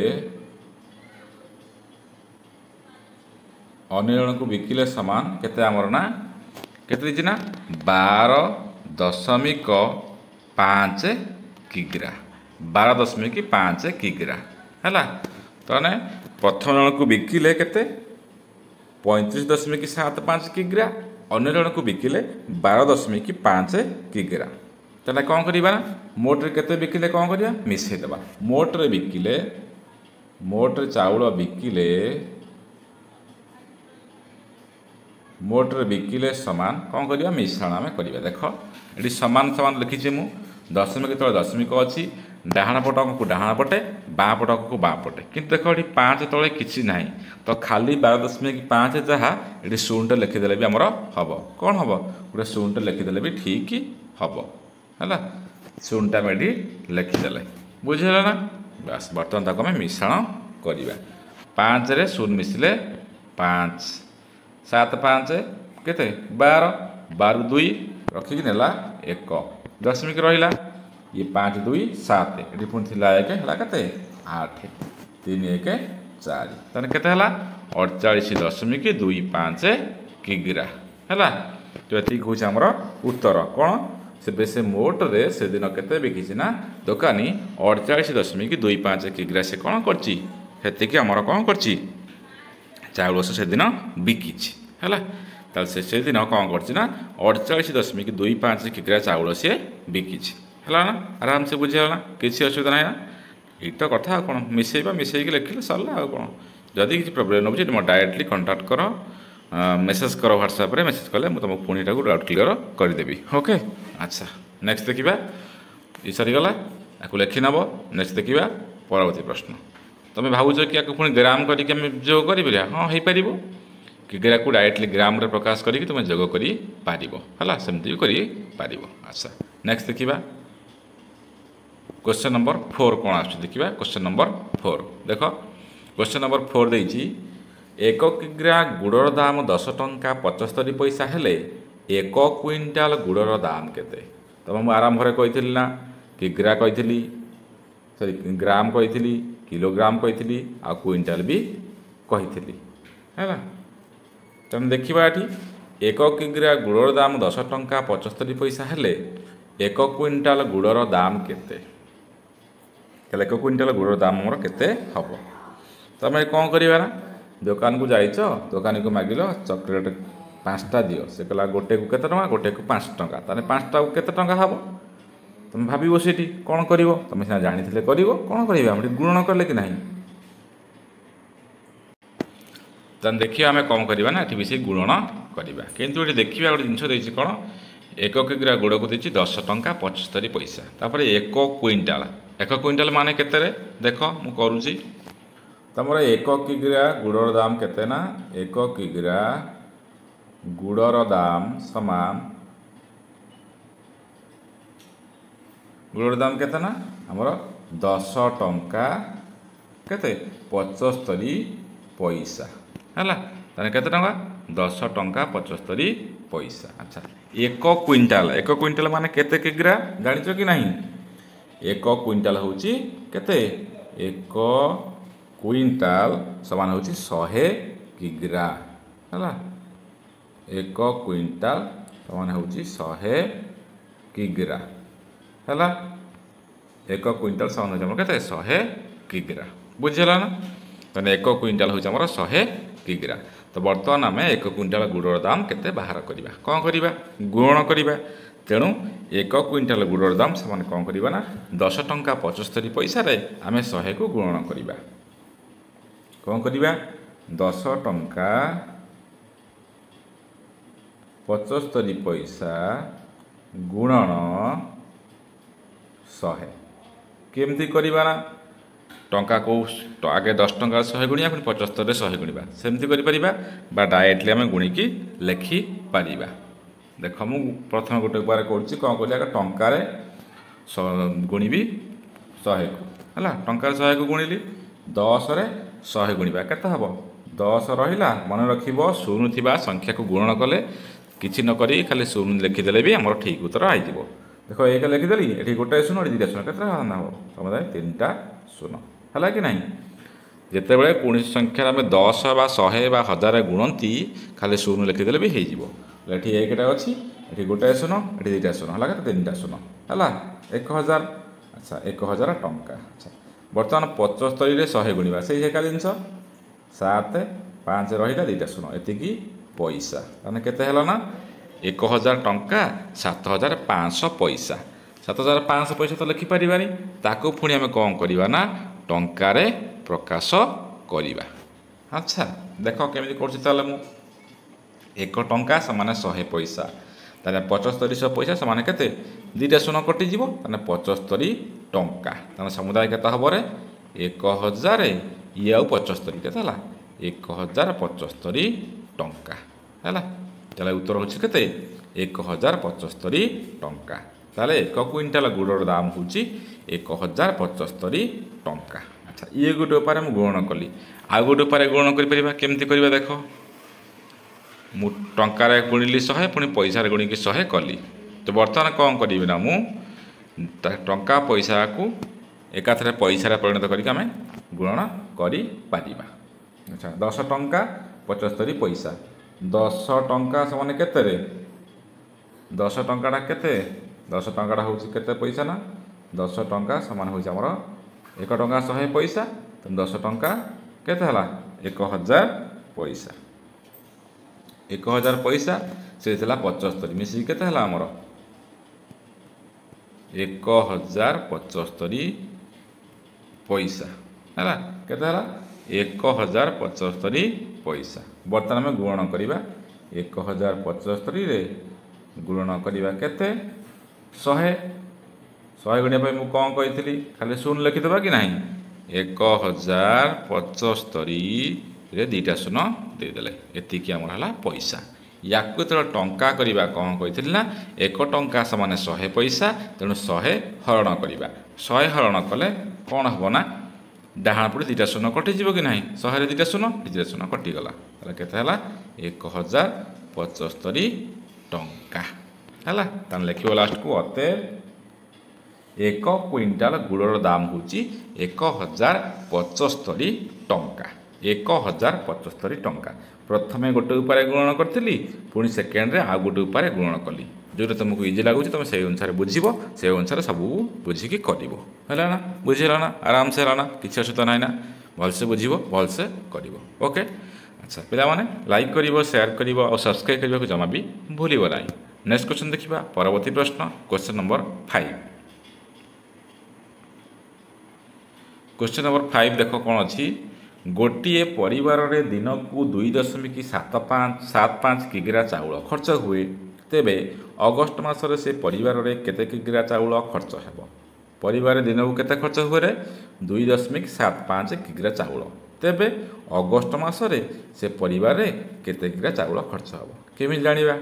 ଅନ୍ୟ ଜଣକୁ ବିକିଲେ ସମାନ କେତେ ଆମର ନା କେତେ ଦେଇଛି ନା 12.5 କିଗ୍ରା, 12.5 କିଗ୍ରା। ହେଲା? ତାହେଲେ ପ୍ରଥମ ଜଣକୁ ବିକିଲେ କେତେ? 35.75 କିଗ୍ରା। ଅନ୍ୟ ଜଣକୁ ବିକିଲେ 12.5 କିଗ୍ରା। ତାହେଲେ କ'ଣ କରିବା ନା ମୋଟରେ କେତେ ବିକିଲେ କ'ଣ କରିବା? ମିଶାଇ ଦେବା। ମୋଟରେ ବିକିଲେ, ମୋଟରେ ଚାଉଳ ବିକିଲେ, ମୋଟରେ ବିକିଲେ ସମାନ କ'ଣ କରିବା? ମିଶ୍ରଣ ଆମେ କରିବା। ଦେଖ, ଏଠି ସମାନ ସମାନ ଲେଖିଛି ମୁଁ। ଦଶମିକ ତଳେ ଦଶମିକ ଅଛି, ଡାହାଣ ପଟ ଅଙ୍କକୁ ଡାହାଣ ପଟେ, ବାଁ ପଟ ଅଙ୍କକୁ ବାଁ ପଟେ। କିନ୍ତୁ ଦେଖ, ଏଠି 5 ତଳେ କିଛି ନାହିଁ, ତ ଖାଲି 12.5 ଯାହା ଏଠି ଶୂନଟା ଲେଖିଦେଲେ ବି ଆମର ହେବ। କ'ଣ ହେବ? ଗୋଟେ ଶୂନଟା ଲେଖିଦେଲେ ବି ଠିକ୍ ହେବ। ହେଲା? ଶୂନଟା ଆମେ ଏଠି ଲେଖିଦେଲେ, ବୁଝିହେଲା ନା? ବାସ୍, ବର୍ତ୍ତମାନ ତାକୁ ଆମେ ମିଶ୍ରଣ କରିବା। 5ରେ ଶୂନ ମିଶିଲେ 5, 7 5 କେତେ? 12। 12 2 ରଖିକି ନେଲା 1, ଦଶମିକ ରହିଲା। ଇଏ 5 2 7, ଏଠି ପୁଣି ଥିଲା 1, ହେଲା କେତେ? 8, 3 1 4। ତାହେଲେ କେତେ ହେଲା? 48.25 କିଗ୍ରା। ହେଲା ତ? ଏତିକି ହେଉଛି ଆମର ଉତ୍ତର। କ'ଣ ସେ ମୋଟରେ ସେଦିନ କେତେ ବିକିଛି ନା ଦୋକାନୀ 48.25 କିଗ୍ରା ସେ କ'ଣ କରିଛି, ସେତିକି ଆମର କ'ଣ କରିଛି, ଚାଉଳ ସେ ସେଦିନ ବିକିଛି। ହେଲା? ତାହେଲେ ସେ ସେଦିନ କ'ଣ କରିଛି ନା 48.25 କିଗ୍ରା ଚାଉଳ ସିଏ ବିକିଛି। ହେଲା ନା? ଆରାମସେ ବୁଝିହେଲା ନା? କିଛି ଅସୁବିଧା ନାହିଁ ନା? ଏଇ ତ କଥା, ଆଉ କ'ଣ? ମିଶେଇବା, ମିଶେଇକି ଲେଖିଲେ ସରିଲା, ଆଉ କ'ଣ? ଯଦି କିଛି ପ୍ରୋବ୍ଲେମ୍ ହେଉଛି, ମୋ ଡାଇରେକ୍ଟଲି କଣ୍ଟାକ୍ଟ କର, ମେସେଜ୍ କର। ହ୍ୱାଟ୍ସଆପ୍ରେ ମେସେଜ୍ କଲେ ମୁଁ ତୁମକୁ ପୁଣି ଏଟାକୁ ଡାଉଟ୍ କ୍ଲିୟର କରିଦେବି। ଓକେ, ଆଚ୍ଛା, ନେକ୍ସଟ ଦେଖିବା। ଏ ସରିଗଲା, ଆକୁ ଲେଖିନେବ। ନେକ୍ସଟ ଦେଖିବା ପରବର୍ତ୍ତୀ ପ୍ରଶ୍ନ। ତୁମେ ଭାବୁଛ କି ଆକୁ ପୁଣି ଗ୍ରାମ କରିକି ଆମେ ଯୋଗ କରିପାରିବା? ହଁ, ହେଇପାରିବ। କିଗ୍ରାକୁ ଡାଇରେକ୍ଟଲି ଗ୍ରାମରେ ପ୍ରକାଶ କରିକି ତୁମେ ଯୋଗ କରିପାରିବ। ହେଲା? ସେମିତି ବି କରିପାରିବ। ଆଚ୍ଛା, ନେକ୍ସଟ ଦେଖିବା କ୍ୱେଶ୍ଚନ୍ ନମ୍ବର 4 କ'ଣ ଆସୁଛି ଦେଖିବା। କ୍ୱେଶ୍ଚନ୍ ନମ୍ବର 4 ଦେଖ, କ୍ୱେଶ୍ଚନ୍ ନମ୍ବର 4 ଦେଇଛି, 1 କିଗ୍ରା ଗୁଡ଼ର ଦାମ 10 ଟଙ୍କା 75 ପଇସା ହେଲେ 1 କୁଇଣ୍ଟାଲ ଗୁଡ଼ର ଦାମ କେତେ? ତମେ ମୁଁ ଆରମ୍ଭରେ କହିଥିଲି ନା, କିଗ୍ରା କହିଥିଲି, ସରି, ଗ୍ରାମ କହିଥିଲି, କିଲୋଗ୍ରାମ କହିଥିଲି, ଆଉ କୁଇଣ୍ଟାଲ ବି କହିଥିଲି। ହେଲା? ତେଣୁ ଦେଖିବା ଏଠି 1 କିଗ୍ରା ଗୁଡ଼ର ଦାମ 10 ଟଙ୍କା 75 ପଇସା ହେଲେ 1 କୁଇଣ୍ଟାଲ ଗୁଡ଼ର ଦାମ କେତେ? ତାହେଲେ 1 କୁଇଣ୍ଟାଲ ଗୁଡ଼ର ଦାମ ଆମର କେତେ ହେବ? ତମେ କ'ଣ କରିବା ନା, ଦୋକାନକୁ ଯାଇଛ, ଦୋକାନୀକୁ ମାଗିଲ ଚକୋଲେଟ୍ 5ଟା ଦିଅ। ସେ କହିଲା ଗୋଟେକୁ କେତେ ଟଙ୍କା? ଗୋଟେକୁ 5 ଟଙ୍କା। ତାହେଲେ 5ଟାକୁ କେତେ ଟଙ୍କା ହେବ? ତୁମେ ଭାବିବ ସେଠି କ'ଣ କରିବ? ତୁମେ ସିନା ଜାଣିଥିଲେ କରିବ। କ'ଣ କରିବା? ଆମେ ଗୁଣନ କଲେ କି ନାହିଁ? ତାହେଲେ ଦେଖିବା ଆମେ କ'ଣ କରିବା ନା ଏଠି ବି ସେଇ ଗୁଣନ କରିବା। କିନ୍ତୁ ଏଠି ଦେଖିବା ଗୋଟେ ଜିନିଷ ଦେଇଛି କ'ଣ? 1 କିଗ୍ରା ଗୁଡ଼କୁ ଦେଇଛି 10 ଟଙ୍କା 75 ପଇସା। ତାପରେ 1 କୁଇଣ୍ଟାଲ, 1 କୁଇଣ୍ଟାଲ ମାନେ କେତେରେ? ଦେଖ, ମୁଁ କରୁଛି। ତୁମର 1 କିଗ୍ରା ଗୁଡ଼ର ଦାମ କେତେ ନା 1 କିଗ୍ରା ଗୁଡ଼ର ଦାମ ସମାନ, ଗୁଡ଼ର ଦାମ କେତେ ନା ଆମର 10 ଟଙ୍କା କେତେ? 75 ପଇସା। ହେଲା? ତାହେଲେ କେତେ ଟଙ୍କା? 10 ଟଙ୍କା 75 ପଇସା। ଆଚ୍ଛା, 1 କୁଇଣ୍ଟାଲ, 1 କୁଇଣ୍ଟାଲ ମାନେ କେତେ କିଗ୍ରା ଜାଣିଛ କି ନାହିଁ? 1 କୁଇଣ୍ଟାଲ ହେଉଛି କେତେ? 1 କୁଇଣ୍ଟାଲ ସମାନ ହେଉଛି 100 କିଗ୍ରା। ହେଲା? 1 କୁଇଣ୍ଟାଲ ସମାନ ହେଉଛି 100 କିଗ୍ରା। ହେଲା? 1 କୁଇଣ୍ଟାଲ ସମାନ ହେଉଛି ଆମର କେତେ? 100 କିଗ୍ରା। ବୁଝିହେଲା ନା? ତାହେଲେ 1 କୁଇଣ୍ଟାଲ ହେଉଛି ଆମର 100 କିଗ୍ରା। ତ ବର୍ତ୍ତମାନ ଆମେ 1 କୁଇଣ୍ଟାଲ ଗୁଡ଼ର ଦାମ କେତେ ବାହାର କରିବା। କ'ଣ କରିବା? ଗୁଣନ କରିବା। ତେଣୁ 1 କୁଇଣ୍ଟାଲ ଗୁଡ଼ର ଦାମ ସେମାନେ କ'ଣ କରିବା ନା 10 ଟଙ୍କା 75 ପଇସାରେ ଆମେ 100କୁ ଗୁଣନ କରିବା। କ'ଣ କରିବା? 10 ଟଙ୍କା 75 ପଇସା ଗୁଣନ 100। କେମିତି କରିବା ନା ଟଙ୍କା କେଉଁ ଆଗେ 10 ଟଙ୍କା 100 ଗୁଣିବା, ପୁଣି 75ରେ 100 ଗୁଣିବା, ସେମିତି କରିପାରିବା ବା ଡାଇରେକ୍ଟଲି ଆମେ ଗୁଣିକି ଲେଖିପାରିବା। ଦେଖ ମୁଁ ପ୍ରଥମେ ଗୋଟେ ଉପାୟରେ କରୁଛି। କ'ଣ କଲି? ଆଗେ ଟଙ୍କାରେ ଗୁଣିବି 100କୁ, ହେଲା। ଟଙ୍କାରେ 100କୁ ଗୁଣିଲି, 10ରେ 100 ଗୁଣିବା କେତେ ହେବ? 10 ରହିଲା। ମନେ ରଖିବ ଶୂନ ଥିବା ସଂଖ୍ୟାକୁ ଗୁଣନ କଲେ କିଛି ନ କରି ଖାଲି ଶୂନ ଲେଖିଦେଲେ ବି ଆମର ଠିକ୍ ଉତ୍ତର ହେଇଯିବ। ଦେଖ 1 ଲେଖିଦେଲି, ଏଠି ଗୋଟେ ଶୂନ, ଏଠି 2ଟା ଶୂନ, କେତେ ହେବ? ସମୁଦାୟ 3ଟା ଶୂନ। ହେଲା କି ନାହିଁ? ଯେତେବେଳେ କୌଣସି ସଂଖ୍ୟାରେ ଆମେ 10 ବା 100 ବା 1000 ଗୁଣନ୍ତି, ଖାଲି ଶୂନ ଲେଖିଦେଲେ ବି ହେଇଯିବ। ଏଠି 1ଟା ଅଛି, ଏଠି ଗୋଟାଏ ଶୂନ, ଏଠି 2ଟା ଶୂନ, ହେଲା କେତେ? 3ଟା ଶୂନ, ହେଲା 1000। ଆଚ୍ଛା, 1000 ଟଙ୍କା। ଆଚ୍ଛା, ବର୍ତ୍ତମାନ 75ରେ 100 ଗୁଣିବା, ସେଇ ଏକା ଜିନିଷ, 7 5 ରହିଲା, 2ଟା ଶୂନ, ଏତିକି ପଇସା। ତାହେଲେ କେତେ ହେଲା ନା 1000 ଟଙ୍କା 7500 ପଇସା। 7500 ପଇସା ତ ଲେଖିପାରିବାନି, ତାକୁ ପୁଣି ଆମେ କ'ଣ କରିବା ନା ଟଙ୍କାରେ ପ୍ରକାଶ କରିବା। ଆଚ୍ଛା, ଦେଖ କେମିତି କରୁଛି। ତାହେଲେ ମୁଁ 1 ଟଙ୍କା ସମାନ 100 ପଇସା, ତାହେଲେ 7500 ପଇସା ସମାନ କେତେ? 2ଟା ଶୂନ କଟିଯିବ, ତାହେଲେ 75 ଟଙ୍କା। ତାହେଲେ ସମୁଦାୟ କେତେ ହେବରେ? 1000 ଇଏ ଆଉ 75 କେତେ ହେଲା? 1075 ଟଙ୍କା ହେଲା। ତାହେଲେ ଉତ୍ତର ହେଉଛି କେତେ? 1075 ଟଙ୍କା। ତାହେଲେ 1 କୁଇଣ୍ଟାଲ ଗୁଡ଼ର ଦାମ ହେଉଛି 1075 ଟଙ୍କା। ଆଚ୍ଛା, ଇଏ ଗୋଟେ ଉପାୟରେ ମୁଁ ଗୁଣନ କଲି। ଆଉ ଗୋଟେ ଉପାୟରେ ଗୁଣନ କରିପାରିବା। କେମିତି କରିବା? ଦେଖ, ମୁଁ ଟଙ୍କାରେ ଗୁଣିଲି 100, ପୁଣି ପଇସାରେ ଗୁଣିକି 100 କଲି। ତ ବର୍ତ୍ତମାନ କ'ଣ କରିବି ନା ମୁଁ ଟଙ୍କା ପଇସାକୁ ଏକାଥରେ ପଇସାରେ ପରିଣତ କରିକି ଆମେ ଗୁଣନ କରିପାରିବା। ଆଚ୍ଛା, 10 ଟଙ୍କା 75 ପଇସା। 10 ଟଙ୍କା ସମାନ କେତେରେ? 10 ଟଙ୍କାଟା କେତେ? 10 ଟଙ୍କାଟା ହେଉଛି କେତେ ପଇସା ନା 10 ଟଙ୍କା ସମାନ ହେଉଛି ଆମର 1 ଟଙ୍କା 100 ପଇସା। ତେଣୁ 10 ଟଙ୍କା କେତେ ହେଲା? 1000 ପଇସା। 1000 ପଇସା ସେ ଥିଲା 75, ମିଶିକି କେତେ ହେଲା ଆମର? 1075 ପଇସା ହେଲା। କେତେ ହେଲା? 1075 ପଇସା। ବର୍ତ୍ତମାନ ଆମେ ଗୁଣନ କରିବା। 1075ରେ ଗୁଣନ କରିବା କେତେ? 100। 100 ଗୁଣିବା ପାଇଁ ମୁଁ କ'ଣ କହିଥିଲି? ଖାଲି ଶୂନ ଲେଖିଦେବା କି ନାହିଁ? 1075ରେ 2ଟା ଶୂନ ଦେଇଦେଲେ, ଏତିକି ଆମର ହେଲା ପଇସା। ୟାକୁ ଯେତେବେଳେ ଟଙ୍କା କରିବା, କ'ଣ କହିଥିଲି ନା 1 ଟଙ୍କା ସମାନ 100 ପଇସା, ତେଣୁ 100 ହରଣ କରିବା। 100 ହରଣ କଲେ କ'ଣ ହେବ ନା ଡାହାଣ ପଟେ 2ଟା ଶୂନ କଟିଯିବ କି ନାହିଁ? 100ରେ 2ଟା ଶୂନ, 2ଟା ଶୂନ କଟିଗଲା। ତାହେଲେ କେତେ ହେଲା? 1075 ଟଙ୍କା ହେଲା। ତାହେଲେ ଲେଖିବ ଲାଷ୍ଟକୁ, ଅତଏବ 1 କୁଇଣ୍ଟାଲ ଗୁଡ଼ର ଦାମ ହେଉଛି 1075 ଟଙ୍କା। 1075 ଟଙ୍କା। ପ୍ରଥମେ ଗୋଟେ ଉପାୟରେ ଗୁଣନ କରିଥିଲି, ପୁଣି ସେକେଣ୍ଡରେ ଆଉ ଗୋଟେ ଉପାୟରେ ଗୁଣନ କଲି। ଯେଉଁଟା ତୁମକୁ ଇଜି ଲାଗୁଛି ତୁମେ ସେଇ ଅନୁସାରେ ବୁଝିବ, ସେଇ ଅନୁସାରେ ସବୁ ବୁଝିକି କରିବ। ହେଲା ନା? ବୁଝିହେଲା ନା? ଆରାମସେ ହେଲା ନା? କିଛି ଅସୁବିଧା ନାହିଁ ନା? ଭଲସେ ବୁଝିବ, ଭଲସେ କରିବ। ଓକେ। ଆଚ୍ଛା ପିଲାମାନେ, ଲାଇକ୍ କରିବ, ସେୟାର କରିବ ଆଉ ସବସ୍କ୍ରାଇବ୍ କରିବାକୁ ଜମା ବି ଭୁଲିବ ନାହିଁ। ନେକ୍ସଟ କ୍ୱେଶ୍ଚନ୍ ଦେଖିବା, ପରବର୍ତ୍ତୀ ପ୍ରଶ୍ନ, କ୍ୱେଶ୍ଚନ୍ ନମ୍ବର 5। କ୍ୱେଶ୍ଚନ୍ ନମ୍ବର 5 ଦେଖ କ'ଣ ଅଛି। ଗୋଟିଏ ପରିବାରରେ ଦିନକୁ 2.75 କିଗ୍ରା ଚାଉଳ ଖର୍ଚ୍ଚ ହୁଏ, ତେବେ ଅଗଷ୍ଟ ମାସରେ ସେ ପରିବାରରେ କେତେ କିଗ୍ରା ଚାଉଳ ଖର୍ଚ୍ଚ ହେବ? ପରିବାରରେ ଦିନକୁ କେତେ ଖର୍ଚ୍ଚ ହୁଏ? 2.75 କିଗ୍ରା ଚାଉଳ। ତେବେ ଅଗଷ୍ଟ ମାସରେ ସେ ପରିବାରରେ କେତେ କିଗ୍ରା ଚାଉଳ ଖର୍ଚ୍ଚ ହେବ? କେମିତି ଜାଣିବା?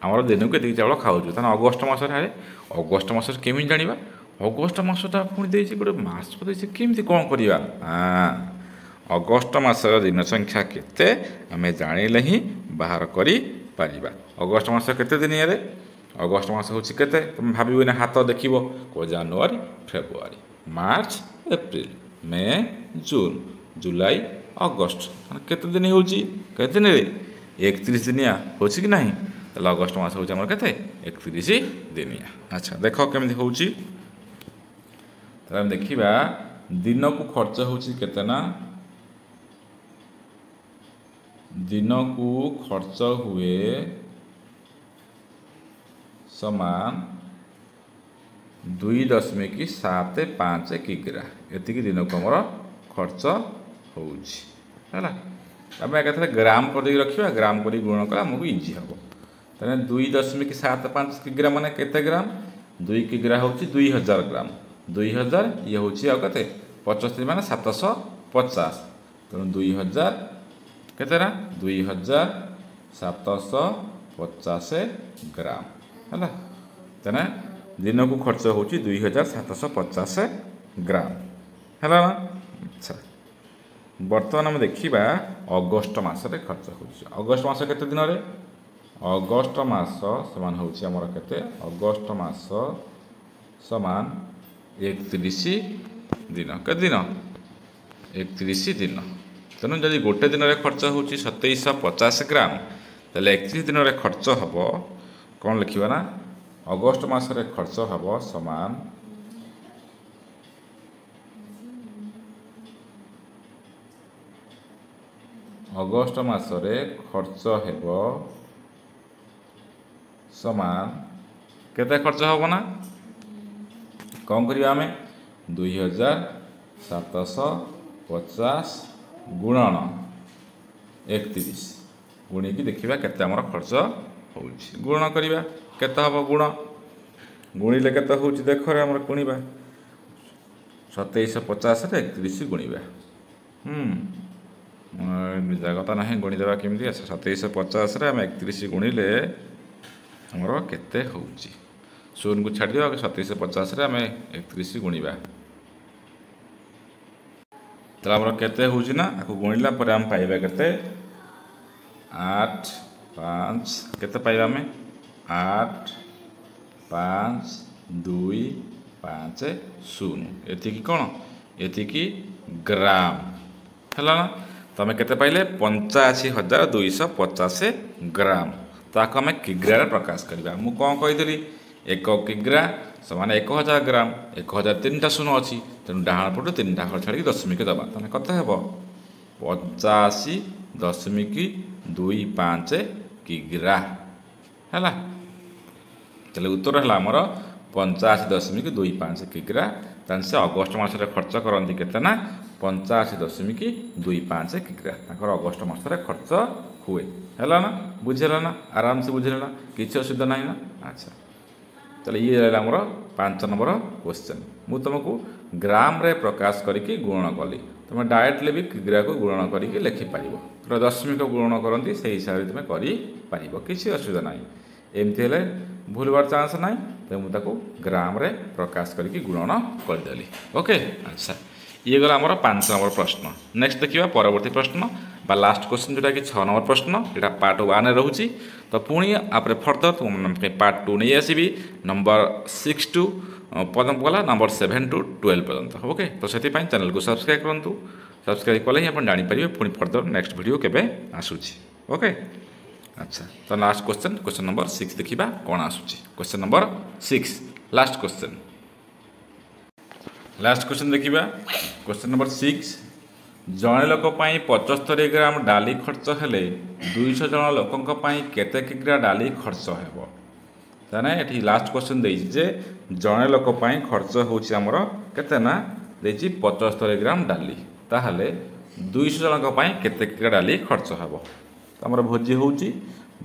ଆମର ଦିନକୁ ଏତିକି ଚାଉଳ ଖାଉଛୁ, ତାହେଲେ ଅଗଷ୍ଟ ମାସରେ, ଆରେ ଅଗଷ୍ଟ ମାସରେ କେମିତି ଜାଣିବା? ଅଗଷ୍ଟ ମାସଟା ପୁଣି ଦେଇଛି, ଗୋଟେ ମାସ ଦେଇଛି, କେମିତି କ'ଣ କରିବା? ଅଗଷ୍ଟ ମାସର ଦିନ ସଂଖ୍ୟା କେତେ ଆମେ ଜାଣିଲେ ହିଁ ବାହାର କରିପାରିବା। ଅଗଷ୍ଟ ମାସ କେତେ ଦିନିଆରେ? ଅଗଷ୍ଟ ମାସ ହେଉଛି କେତେ? ତୁମେ ଭାବିବନି, ହାତ ଦେଖିବ, କୁହ January, February, March, April, May, June, July, August. କେତେ ଦିନ ହେଉଛି? କେତେ ଦିନରେ? 31 ଦିନିଆ ହେଉଛି କି ନାହିଁ? ତାହେଲେ ଅଗଷ୍ଟ ମାସ ହେଉଛି ଆମର କେତେ? 31 ଦିନିଆ। ଆଚ୍ଛା ଦେଖ କେମିତି ହେଉଛି। ତାହେଲେ ଆମେ ଦେଖିବା ଦିନକୁ ଖର୍ଚ୍ଚ ହେଉଛି କେତେ ନା ଦିନକୁ ଖର୍ଚ୍ଚ ହୁଏ ସମାନ 2.75 କିଗ୍ରା। ଏତିକି ଦିନକୁ ଆମର ଖର୍ଚ୍ଚ ହେଉଛି। ହେଲା, ଆମେ ଏକାଥରେ ଗ୍ରାମ କରିଦେଇକି ରଖିବା, ଗ୍ରାମ କରିକି ଗୁଣନ କଲେ ଆମକୁ ଇଜି ହେବ। ତାହେଲେ 2.75 କିଗ୍ରା ମାନେ କେତେ ଗ୍ରାମ? 2 କିଗ୍ରା ହେଉଛି 2000 ଗ୍ରାମ। 2000 ଇଏ ହେଉଛି ଆଉ କେତେ? 75 ମାନେ 750। ତେଣୁ 2000 କେତେ ନା 2750 ଗ୍ରାମ ହେଲା। ତେଣୁ ଦିନକୁ ଖର୍ଚ୍ଚ ହେଉଛି 2750 ଗ୍ରାମ। ହେଲା ନା? ଆଚ୍ଛା, ବର୍ତ୍ତମାନ ଆମେ ଦେଖିବା ଅଗଷ୍ଟ ମାସରେ ଖର୍ଚ୍ଚ ହେଉଛି। ଅଗଷ୍ଟ ମାସ କେତେ ଦିନରେ? ଅଗଷ୍ଟ ମାସ ସମାନ ହେଉଛି ଆମର କେତେ? ଅଗଷ୍ଟ ମାସ ସମାନ 31 ଦିନ। କେତେ ଦିନ? 31 ଦିନ। ତେଣୁ ଯଦି ଗୋଟେ ଦିନରେ ଖର୍ଚ୍ଚ ହେଉଛି 2750 ଗ୍ରାମ, ତାହେଲେ 31 ଦିନରେ ଖର୍ଚ୍ଚ ହେବ କ'ଣ ଲେଖିବା ନା ଅଗଷ୍ଟ ମାସରେ ଖର୍ଚ୍ଚ ହେବ ସମାନ ଅଗଷ୍ଟ ମାସରେ ଖର୍ଚ୍ଚ ହେବ ସମାନ କେତେ ଖର୍ଚ୍ଚ ହେବ ନା କ'ଣ କରିବା ଆମେ 2750 ଗୁଣନ 31 ଗୁଣିକି ଦେଖିବା କେତେ ଆମର ଖର୍ଚ୍ଚ ହେଉଛି। ଗୁଣନ କରିବା କେତେ ହେବ? ଗୁଣ ଗୁଣିଲେ କେତେ ହେଉଛି ଦେଖରେ ଆମର ଗୁଣିବା 2750ରେ 31 ଗୁଣିବା। ଜାଗତା ନାହିଁ, ଗୁଣିଦେବା କେମିତି? ଆଚ୍ଛା, 2750ରେ ଆମେ 31 ଗୁଣିଲେ ଆମର କେତେ ହେଉଛି? ଶୂନକୁ ଛାଡ଼ିଦେବା, 2750ରେ ଆମେ 31 ଗୁଣିବା, ତାହେଲେ ଆମର କେତେ ହେଉଛି ନା ଆକୁ ଗୁଣିଲା ପରେ ଆମେ ପାଇବା କେତେ? 8 5 କେତେ ପାଇବା ଆମେ? 8 5 2 5 0 ଏତିକି କ'ଣ? ଏତିକି ଗ୍ରାମ ହେଲା ନା? ତମେ କେତେ ପାଇଲେ? 85250 ଗ୍ରାମ। ତାକୁ ଆମେ କିଗ୍ରାରେ ପ୍ରକାଶ କରିବା। ମୁଁ କ'ଣ କହିଥିଲି? 1 କିଗ୍ରା ସମାନ 1000 ଗ୍ରାମ। 1000 3ଟା ଶୂନ ଅଛି, ତେଣୁ ଡାହାଣ ପଟୁ 3ଟା ଘର ଛାଡ଼ିକି ଦଶମିକ ଦେବା। ତାହେଲେ କେତେ ହେବ? 85.25 କିଗ୍ରା ହେଲା। ତାହେଲେ ଉତ୍ତର ହେଲା ଆମର 85.25 କିଗ୍ରା। ତାହେଲେ ସେ ଅଗଷ୍ଟ ମାସରେ ଖର୍ଚ୍ଚ କରନ୍ତି କେତେ ନା 85.25 କିଗ୍ରା ତାଙ୍କର ଅଗଷ୍ଟ ମାସରେ ଖର୍ଚ୍ଚ ହୁଏ। ହେଲା ନା? ବୁଝିଲା ନା? ଆରାମସେ ବୁଝିଲା ନା? କିଛି ଅସୁବିଧା ନାହିଁ ନା? ଆଚ୍ଛା, ତାହେଲେ ଇଏ ହେଲା ଆମର 5 ନମ୍ବର କ୍ୱେଶ୍ଚନ୍। ମୁଁ ତୁମକୁ ଗ୍ରାମରେ ପ୍ରକାଶ କରିକି ଗୁଣନ କଲି, ତୁମେ ଡାଇରେକ୍ଟଲି ବି କିଗ୍ରାକୁ ଗୁଣନ କରିକି ଲେଖିପାରିବ। ଦଶମିକ ଗୁଣନ କରନ୍ତି ସେଇ ହିସାବରେ ତୁମେ କରିପାରିବ, କିଛି ଅସୁବିଧା ନାହିଁ। ଏମିତି ହେଲେ ଭୁଲ ହେବାର ଚାନ୍ସ ନାହିଁ, ତେଣୁ ମୁଁ ତାକୁ ଗ୍ରାମରେ ପ୍ରକାଶ କରିକି ଗୁଣନ କରିଦେଲି। ଓକେ, ଆଚ୍ଛା, ଇଏ ଗଲା ଆମର 5 ନମ୍ବର ପ୍ରଶ୍ନ। ନେକ୍ସଟ ଦେଖିବା ପରବର୍ତ୍ତୀ ପ୍ରଶ୍ନ ବା ଲାଷ୍ଟ କ୍ୱେଶ୍ଚନ୍, ଯେଉଁଟାକି 6 ନମ୍ବର ପ୍ରଶ୍ନ। ଏଇଟା ପାର୍ଟ 1ରେ ରହୁଛି। ତ ପୁଣି ଆପରେ ଫର୍ଦର ତୁମ ପାଇଁ ପାର୍ଟ 2 ନେଇ ଆସିବି, ନମ୍ବର 6 ଟୁ ପର୍ଯ୍ୟନ୍ତ ଗଲା, ନମ୍ବର 7 ଟୁ 12 ପର୍ଯ୍ୟନ୍ତ। ଓକେ, ତ ସେଥିପାଇଁ ଚ୍ୟାନେଲକୁ ସବସ୍କ୍ରାଇବ୍ କରନ୍ତୁ। ସବସ୍କ୍ରାଇବ୍ କଲେ ହିଁ ଆପଣ ଜାଣିପାରିବେ ପୁଣି ଫର୍ଦର ନେକ୍ସଟ ଭିଡ଼ିଓ କେବେ ଆସୁଛି। ଓକେ, ଆଚ୍ଛା, ତ ଲାଷ୍ଟ କ୍ୱେଶ୍ଚନ୍, କ୍ୱେଶ୍ଚନ୍ ନମ୍ବର 6 ଦେଖିବା କ'ଣ ଆସୁଛି। Question number 6, last question. Last question ଦେଖିବା, କ୍ୱେଶ୍ଚନ୍ ନମ୍ବର 6। ଜଣେ ଲୋକ ପାଇଁ 75 ଗ୍ରାମ ଡାଲି ଖର୍ଚ୍ଚ ହେଲେ 200 ଜଣ ଲୋକଙ୍କ ପାଇଁ କେତେ କିଗ୍ରା ଡାଲି ଖର୍ଚ୍ଚ ହେବ? ତାହେଲେ ଏଠି ଲାଷ୍ଟ କ୍ୱେଶ୍ଚନ୍ ଦେଇଛି ଯେ ଜଣେ ଲୋକ ପାଇଁ ଖର୍ଚ୍ଚ ହେଉଛି ଆମର କେତେ ନା ଦେଇଛି 75 ଗ୍ରାମ ଡାଲି, ତାହେଲେ 200 ଜଣଙ୍କ ପାଇଁ କେତେ କିଗ୍ରା ଡାଲି ଖର୍ଚ୍ଚ ହେବ? ଆମର ଭୋଜି ହେଉଛି,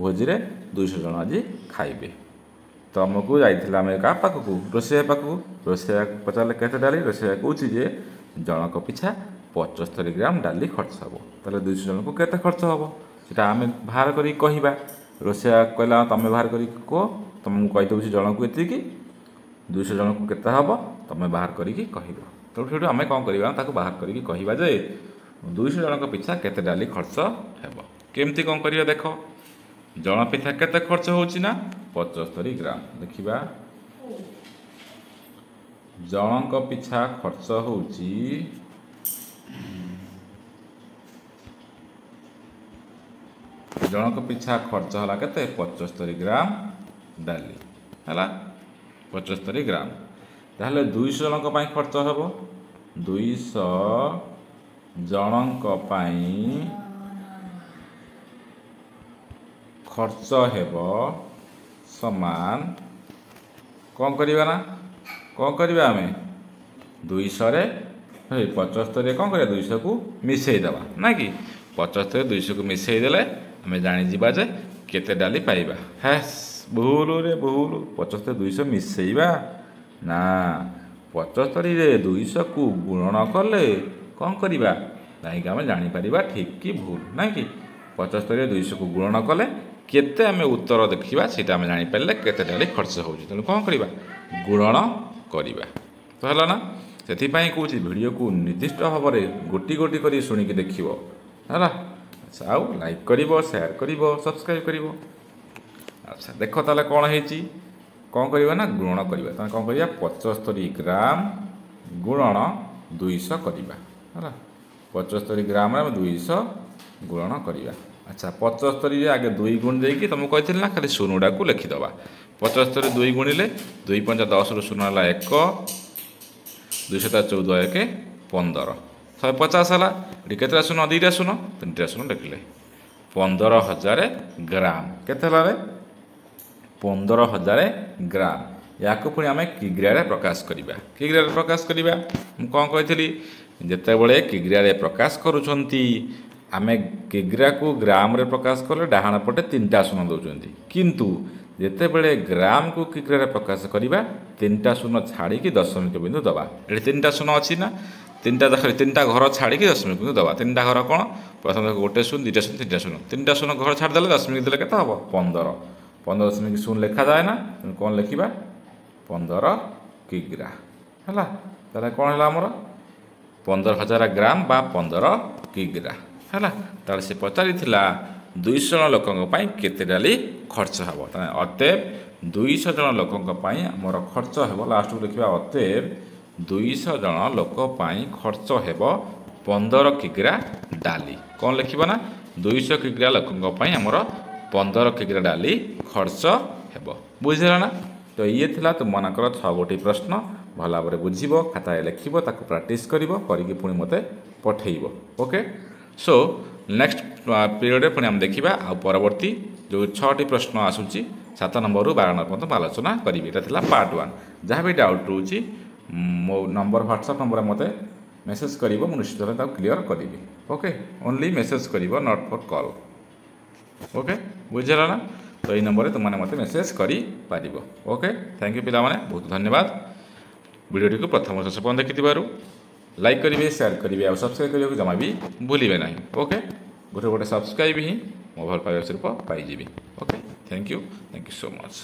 ଭୋଜିରେ 200 ଜଣ ଆଜି ଖାଇବେ। ତ ଆମକୁ ଯାଇଥିଲା ଆମେ କାହା ପାଖକୁ? ରୋଷେଇଆ ପାଖକୁ। ରୋଷେଇଆକୁ ପଚାରିଲେ କେତେ ଡାଲି? ରୋଷେଇଆ କହୁଛି ଯେ ଜଣଙ୍କ ପିଛା 75 ଗ୍ରାମ ଡାଲି ଖର୍ଚ୍ଚ ହେବ। ତାହେଲେ 200 ଜଣଙ୍କୁ କେତେ ଖର୍ଚ୍ଚ ହେବ ସେଟା ଆମେ ବାହାର କରିକି କହିବା। ରୋଷେଇଆ କହିଲା ତୁମେ ବାହାର କରିକି କୁହ, ତମେ ମୁଁ କହିଦେଉଛି ଜଣକୁ ଏତିକି, 200 ଜଣଙ୍କୁ କେତେ ହେବ ତୁମେ ବାହାର କରିକି କହିବ। ତେଣୁ ସେଇଠୁ ଆମେ କ'ଣ କରିବା, ତାକୁ ବାହାର କରିକି କହିବା ଯେ 200 ଜଣଙ୍କ ପିଛା କେତେ ଡାଲି ଖର୍ଚ୍ଚ ହେବ। କେମିତି କ'ଣ କରିବା ଦେଖ, ଜଣ ପିଛା କେତେ ଖର୍ଚ୍ଚ ହେଉଛି ନା 75 ଗ୍ରାମ। ଦେଖିବା, ଜଣଙ୍କ ପିଛା ଖର୍ଚ୍ଚ ହେଉଛି ଜଣଙ୍କ ପିଛା ଖର୍ଚ୍ଚ ହେଲା କେତେ? 75 ଗ୍ରାମ ଡାଲି ହେଲା, 75 ଗ୍ରାମ। ତାହେଲେ 200 ଜଣଙ୍କ ପାଇଁ ଖର୍ଚ୍ଚ ହେବ, 200 ଜଣଙ୍କ ପାଇଁ ଖର୍ଚ୍ଚ ହେବ ସମାନ କ'ଣ କରିବା ନା କ'ଣ କରିବା ଆମେ 200ରେ 75ରେ କ'ଣ କରିବା 200କୁ ମିଶାଇ ଦେବା ନା କି 75 200କୁ ମିଶାଇ ଦେଲେ ଆମେ ଜାଣିଯିବା ଯେ କେତେ ଡାଲି ପାଇବା। ହେସ୍ ଭୁଲରେ ଭୁଲ, 75 200 ମିଶାଇବା ନା, 75ରେ 200କୁ ଗୁଣନ କଲେ କ'ଣ କରିବା ଯାଇକି ଆମେ ଜାଣିପାରିବା ଠିକ୍ କି ଭୁଲ ନାଇଁ କି। 75ରେ 200କୁ ଗୁଣନ କଲେ କେତେ ଆମେ ଉତ୍ତର ଦେଖିବା ସେଇଟା ଆମେ ଜାଣିପାରିଲେ କେତେ ଡାଲି ଖର୍ଚ୍ଚ ହେଉଛି। ତେଣୁ କ'ଣ କରିବା ଗୁଣନ କରିବା ତ ହେଲା ନା। ସେଥିପାଇଁ କହୁଛି ଭିଡ଼ିଓକୁ ନିର୍ଦ୍ଦିଷ୍ଟ ଭାବରେ ଗୋଟି ଗୋଟି କରି ଶୁଣିକି ଦେଖିବ ହେଲା। ଆଚ୍ଛା, ଆଉ ଲାଇକ୍ କରିବ, ସେୟାର କରିବ, ସବସ୍କ୍ରାଇବ୍ କରିବ। ଆଚ୍ଛା ଦେଖ ତାହେଲେ କ'ଣ ହେଇଛି, କ'ଣ କରିବା ନା ଗୁଣନ କରିବା। ତାହେଲେ କ'ଣ କରିବା 75 ଗ୍ରାମ ଗୁଣନ 200 କରିବା ହେଲା। 75 ଗ୍ରାମରେ ଆମେ 200 ଗୁଣନ କରିବା। ଆଚ୍ଛା 75ରେ ଆଗେ 2 ଗୁଣ ଦେଇକି ତୁମକୁ କହିଥିଲି ନା ଖାଲି ଶୂନଟାକୁ ଲେଖିଦେବା। 75 2 ଗୁଣିଲେ 2 5 10ରୁ 0 ହେଲା 1, 2 7 14 1 15, 150 ହେଲା। ଏଠି କେତେଟା ଶୂନ, 2ଟା ଶୂନ, 3ଟା ଶୂନ ଲେଖିଲେ 15,000 ଗ୍ରାମ। କେତେ ହେଲା ରେ 15,000 ଗ୍ରାମ। ୟାକୁ ପୁଣି ଆମେ କିଗ୍ରାରେ ପ୍ରକାଶ କରିବା। କିଗ୍ରାରେ ପ୍ରକାଶ କରିବା ମୁଁ କ'ଣ କହିଥିଲି, ଯେତେବେଳେ କିଗ୍ରାରେ ପ୍ରକାଶ କରୁଛନ୍ତି ଆମେ କିଗ୍ରାକୁ ଗ୍ରାମରେ ପ୍ରକାଶ କଲେ ଡାହାଣ ପଟେ 3ଟା ଶୂନ ଦେଉଛନ୍ତି, କିନ୍ତୁ ଯେତେବେଳେ ଗ୍ରାମକୁ କିଗ୍ରାରେ ପ୍ରକାଶ କରିବା 3ଟା ଶୂନ ଛାଡ଼ିକି ଦଶମିକ ବିନ୍ଦୁ ଦେବା। ଏଠି 3ଟା ଶୂନ ଅଛି ନା, 3ଟା ଘର ଛାଡ଼ିକି ଦଶମିକ ବିନ୍ଦୁ ଦେବା। 3ଟା ଘର କ'ଣ, ପ୍ରଥମେ 1 ଶୂନ 2ଟା ଶୂନ 3ଟା ଶୂନ, 3ଟା ଶୂନ ଘର ଛାଡ଼ିଦେଲେ ଦଶମିକ ଦେଲେ କେତେ ହେବ 15। 15.0 ଲେଖାଯାଏ ନା, ତେଣୁ କ'ଣ ଲେଖିବା 15 କିଗ୍ରା ହେଲା। ତାହେଲେ କ'ଣ ହେଲା ଆମର 15,000 ଗ୍ରାମ ବା 15 କିଗ୍ରା ହେଲା। ତାହେଲେ ସେ ପଚାରିଥିଲା 200 ଜଣ ଲୋକଙ୍କ ପାଇଁ କେତେ ଡାଲି ଖର୍ଚ୍ଚ ହେବ। ତାହେଲେ ଅତଏବ 200 ଜଣ ଲୋକଙ୍କ ପାଇଁ ଆମର ଖର୍ଚ୍ଚ ହେବ, ଲାଷ୍ଟକୁ ଲେଖିବା ଅତଏବ 200 ଜଣ ଲୋକ ପାଇଁ ଖର୍ଚ୍ଚ ହେବ 15 କିଗ୍ରା ଡାଲି। କ'ଣ ଲେଖିବ ନା 200 କିଗ୍ରା ଲୋକଙ୍କ ପାଇଁ ଆମର 15 କିଗ୍ରା ଡାଲି ଖର୍ଚ୍ଚ ହେବ। ବୁଝିଲା ନା? ତ ଇଏ ଥିଲା ତୁମମାନଙ୍କର 6 ଗୋଟି ପ୍ରଶ୍ନ। ଭଲ ଭାବରେ ବୁଝିବ, ଖାତାରେ ଲେଖିବ, ତାକୁ ପ୍ରାକ୍ଟିସ୍ କରିବ, କରିକି ପୁଣି ମୋତେ ପଠେଇବ। ଓକେ, ସୋ ନେକ୍ସଟ ପିରିୟଡ଼ରେ ପୁଣି ଆମେ ଦେଖିବା ଆଉ ପରବର୍ତ୍ତୀ ଯେଉଁ 6ଟି ପ୍ରଶ୍ନ ଆସୁଛି 7 ନମ୍ବରରୁ 12 ନମ୍ବର ପର୍ଯ୍ୟନ୍ତ ମୁଁ ଆଲୋଚନା କରିବି। ଏଇଟା ଥିଲା ପାର୍ଟ 1। ଯାହା ବି ଡାଉଟ୍ ରହୁଛି ମୋ ନମ୍ବର ହ୍ୱାଟ୍ସଆପ୍ ନମ୍ବରରେ ମୋତେ ମେସେଜ୍ କରିବ, ମୁଁ ନିଶ୍ଚିତ ଭାବେ ତାକୁ କ୍ଲିଅର୍ କରିବି। ଓକେ, ଓନ୍ଲି ମେସେଜ୍ କରିବ, not for call. Okay, ବୁଝିଲା ନା? ତ ଏଇ ନମ୍ବରରେ ତୁମମାନେ ମୋତେ ମେସେଜ୍ କରିପାରିବ। ଓକେ, thank you ପିଲାମାନେ, ବହୁତ ଧନ୍ୟବାଦ। ଭିଡ଼ିଓଟିକୁ ପ୍ରଥମ ଶେଷ ପର୍ଯ୍ୟନ୍ତ ଦେଖିଥିବାରୁ ଲାଇକ୍ କରିବେ, ସେୟାର କରିବେ ଆଉ ସବସ୍କ୍ରାଇବ୍ କରିବାକୁ ଜମା ବି ଭୁଲିବେ ନାହିଁ। ଓକେ, ଗୋଟେ ଗୋଟେ ସବସ୍କ୍ରାଇବ୍ ହିଁ ମୋ ଭଲ ପାଇବା ସ୍ୱରୂପ ପାଇଯିବି। Okay, thank you, thank you so much.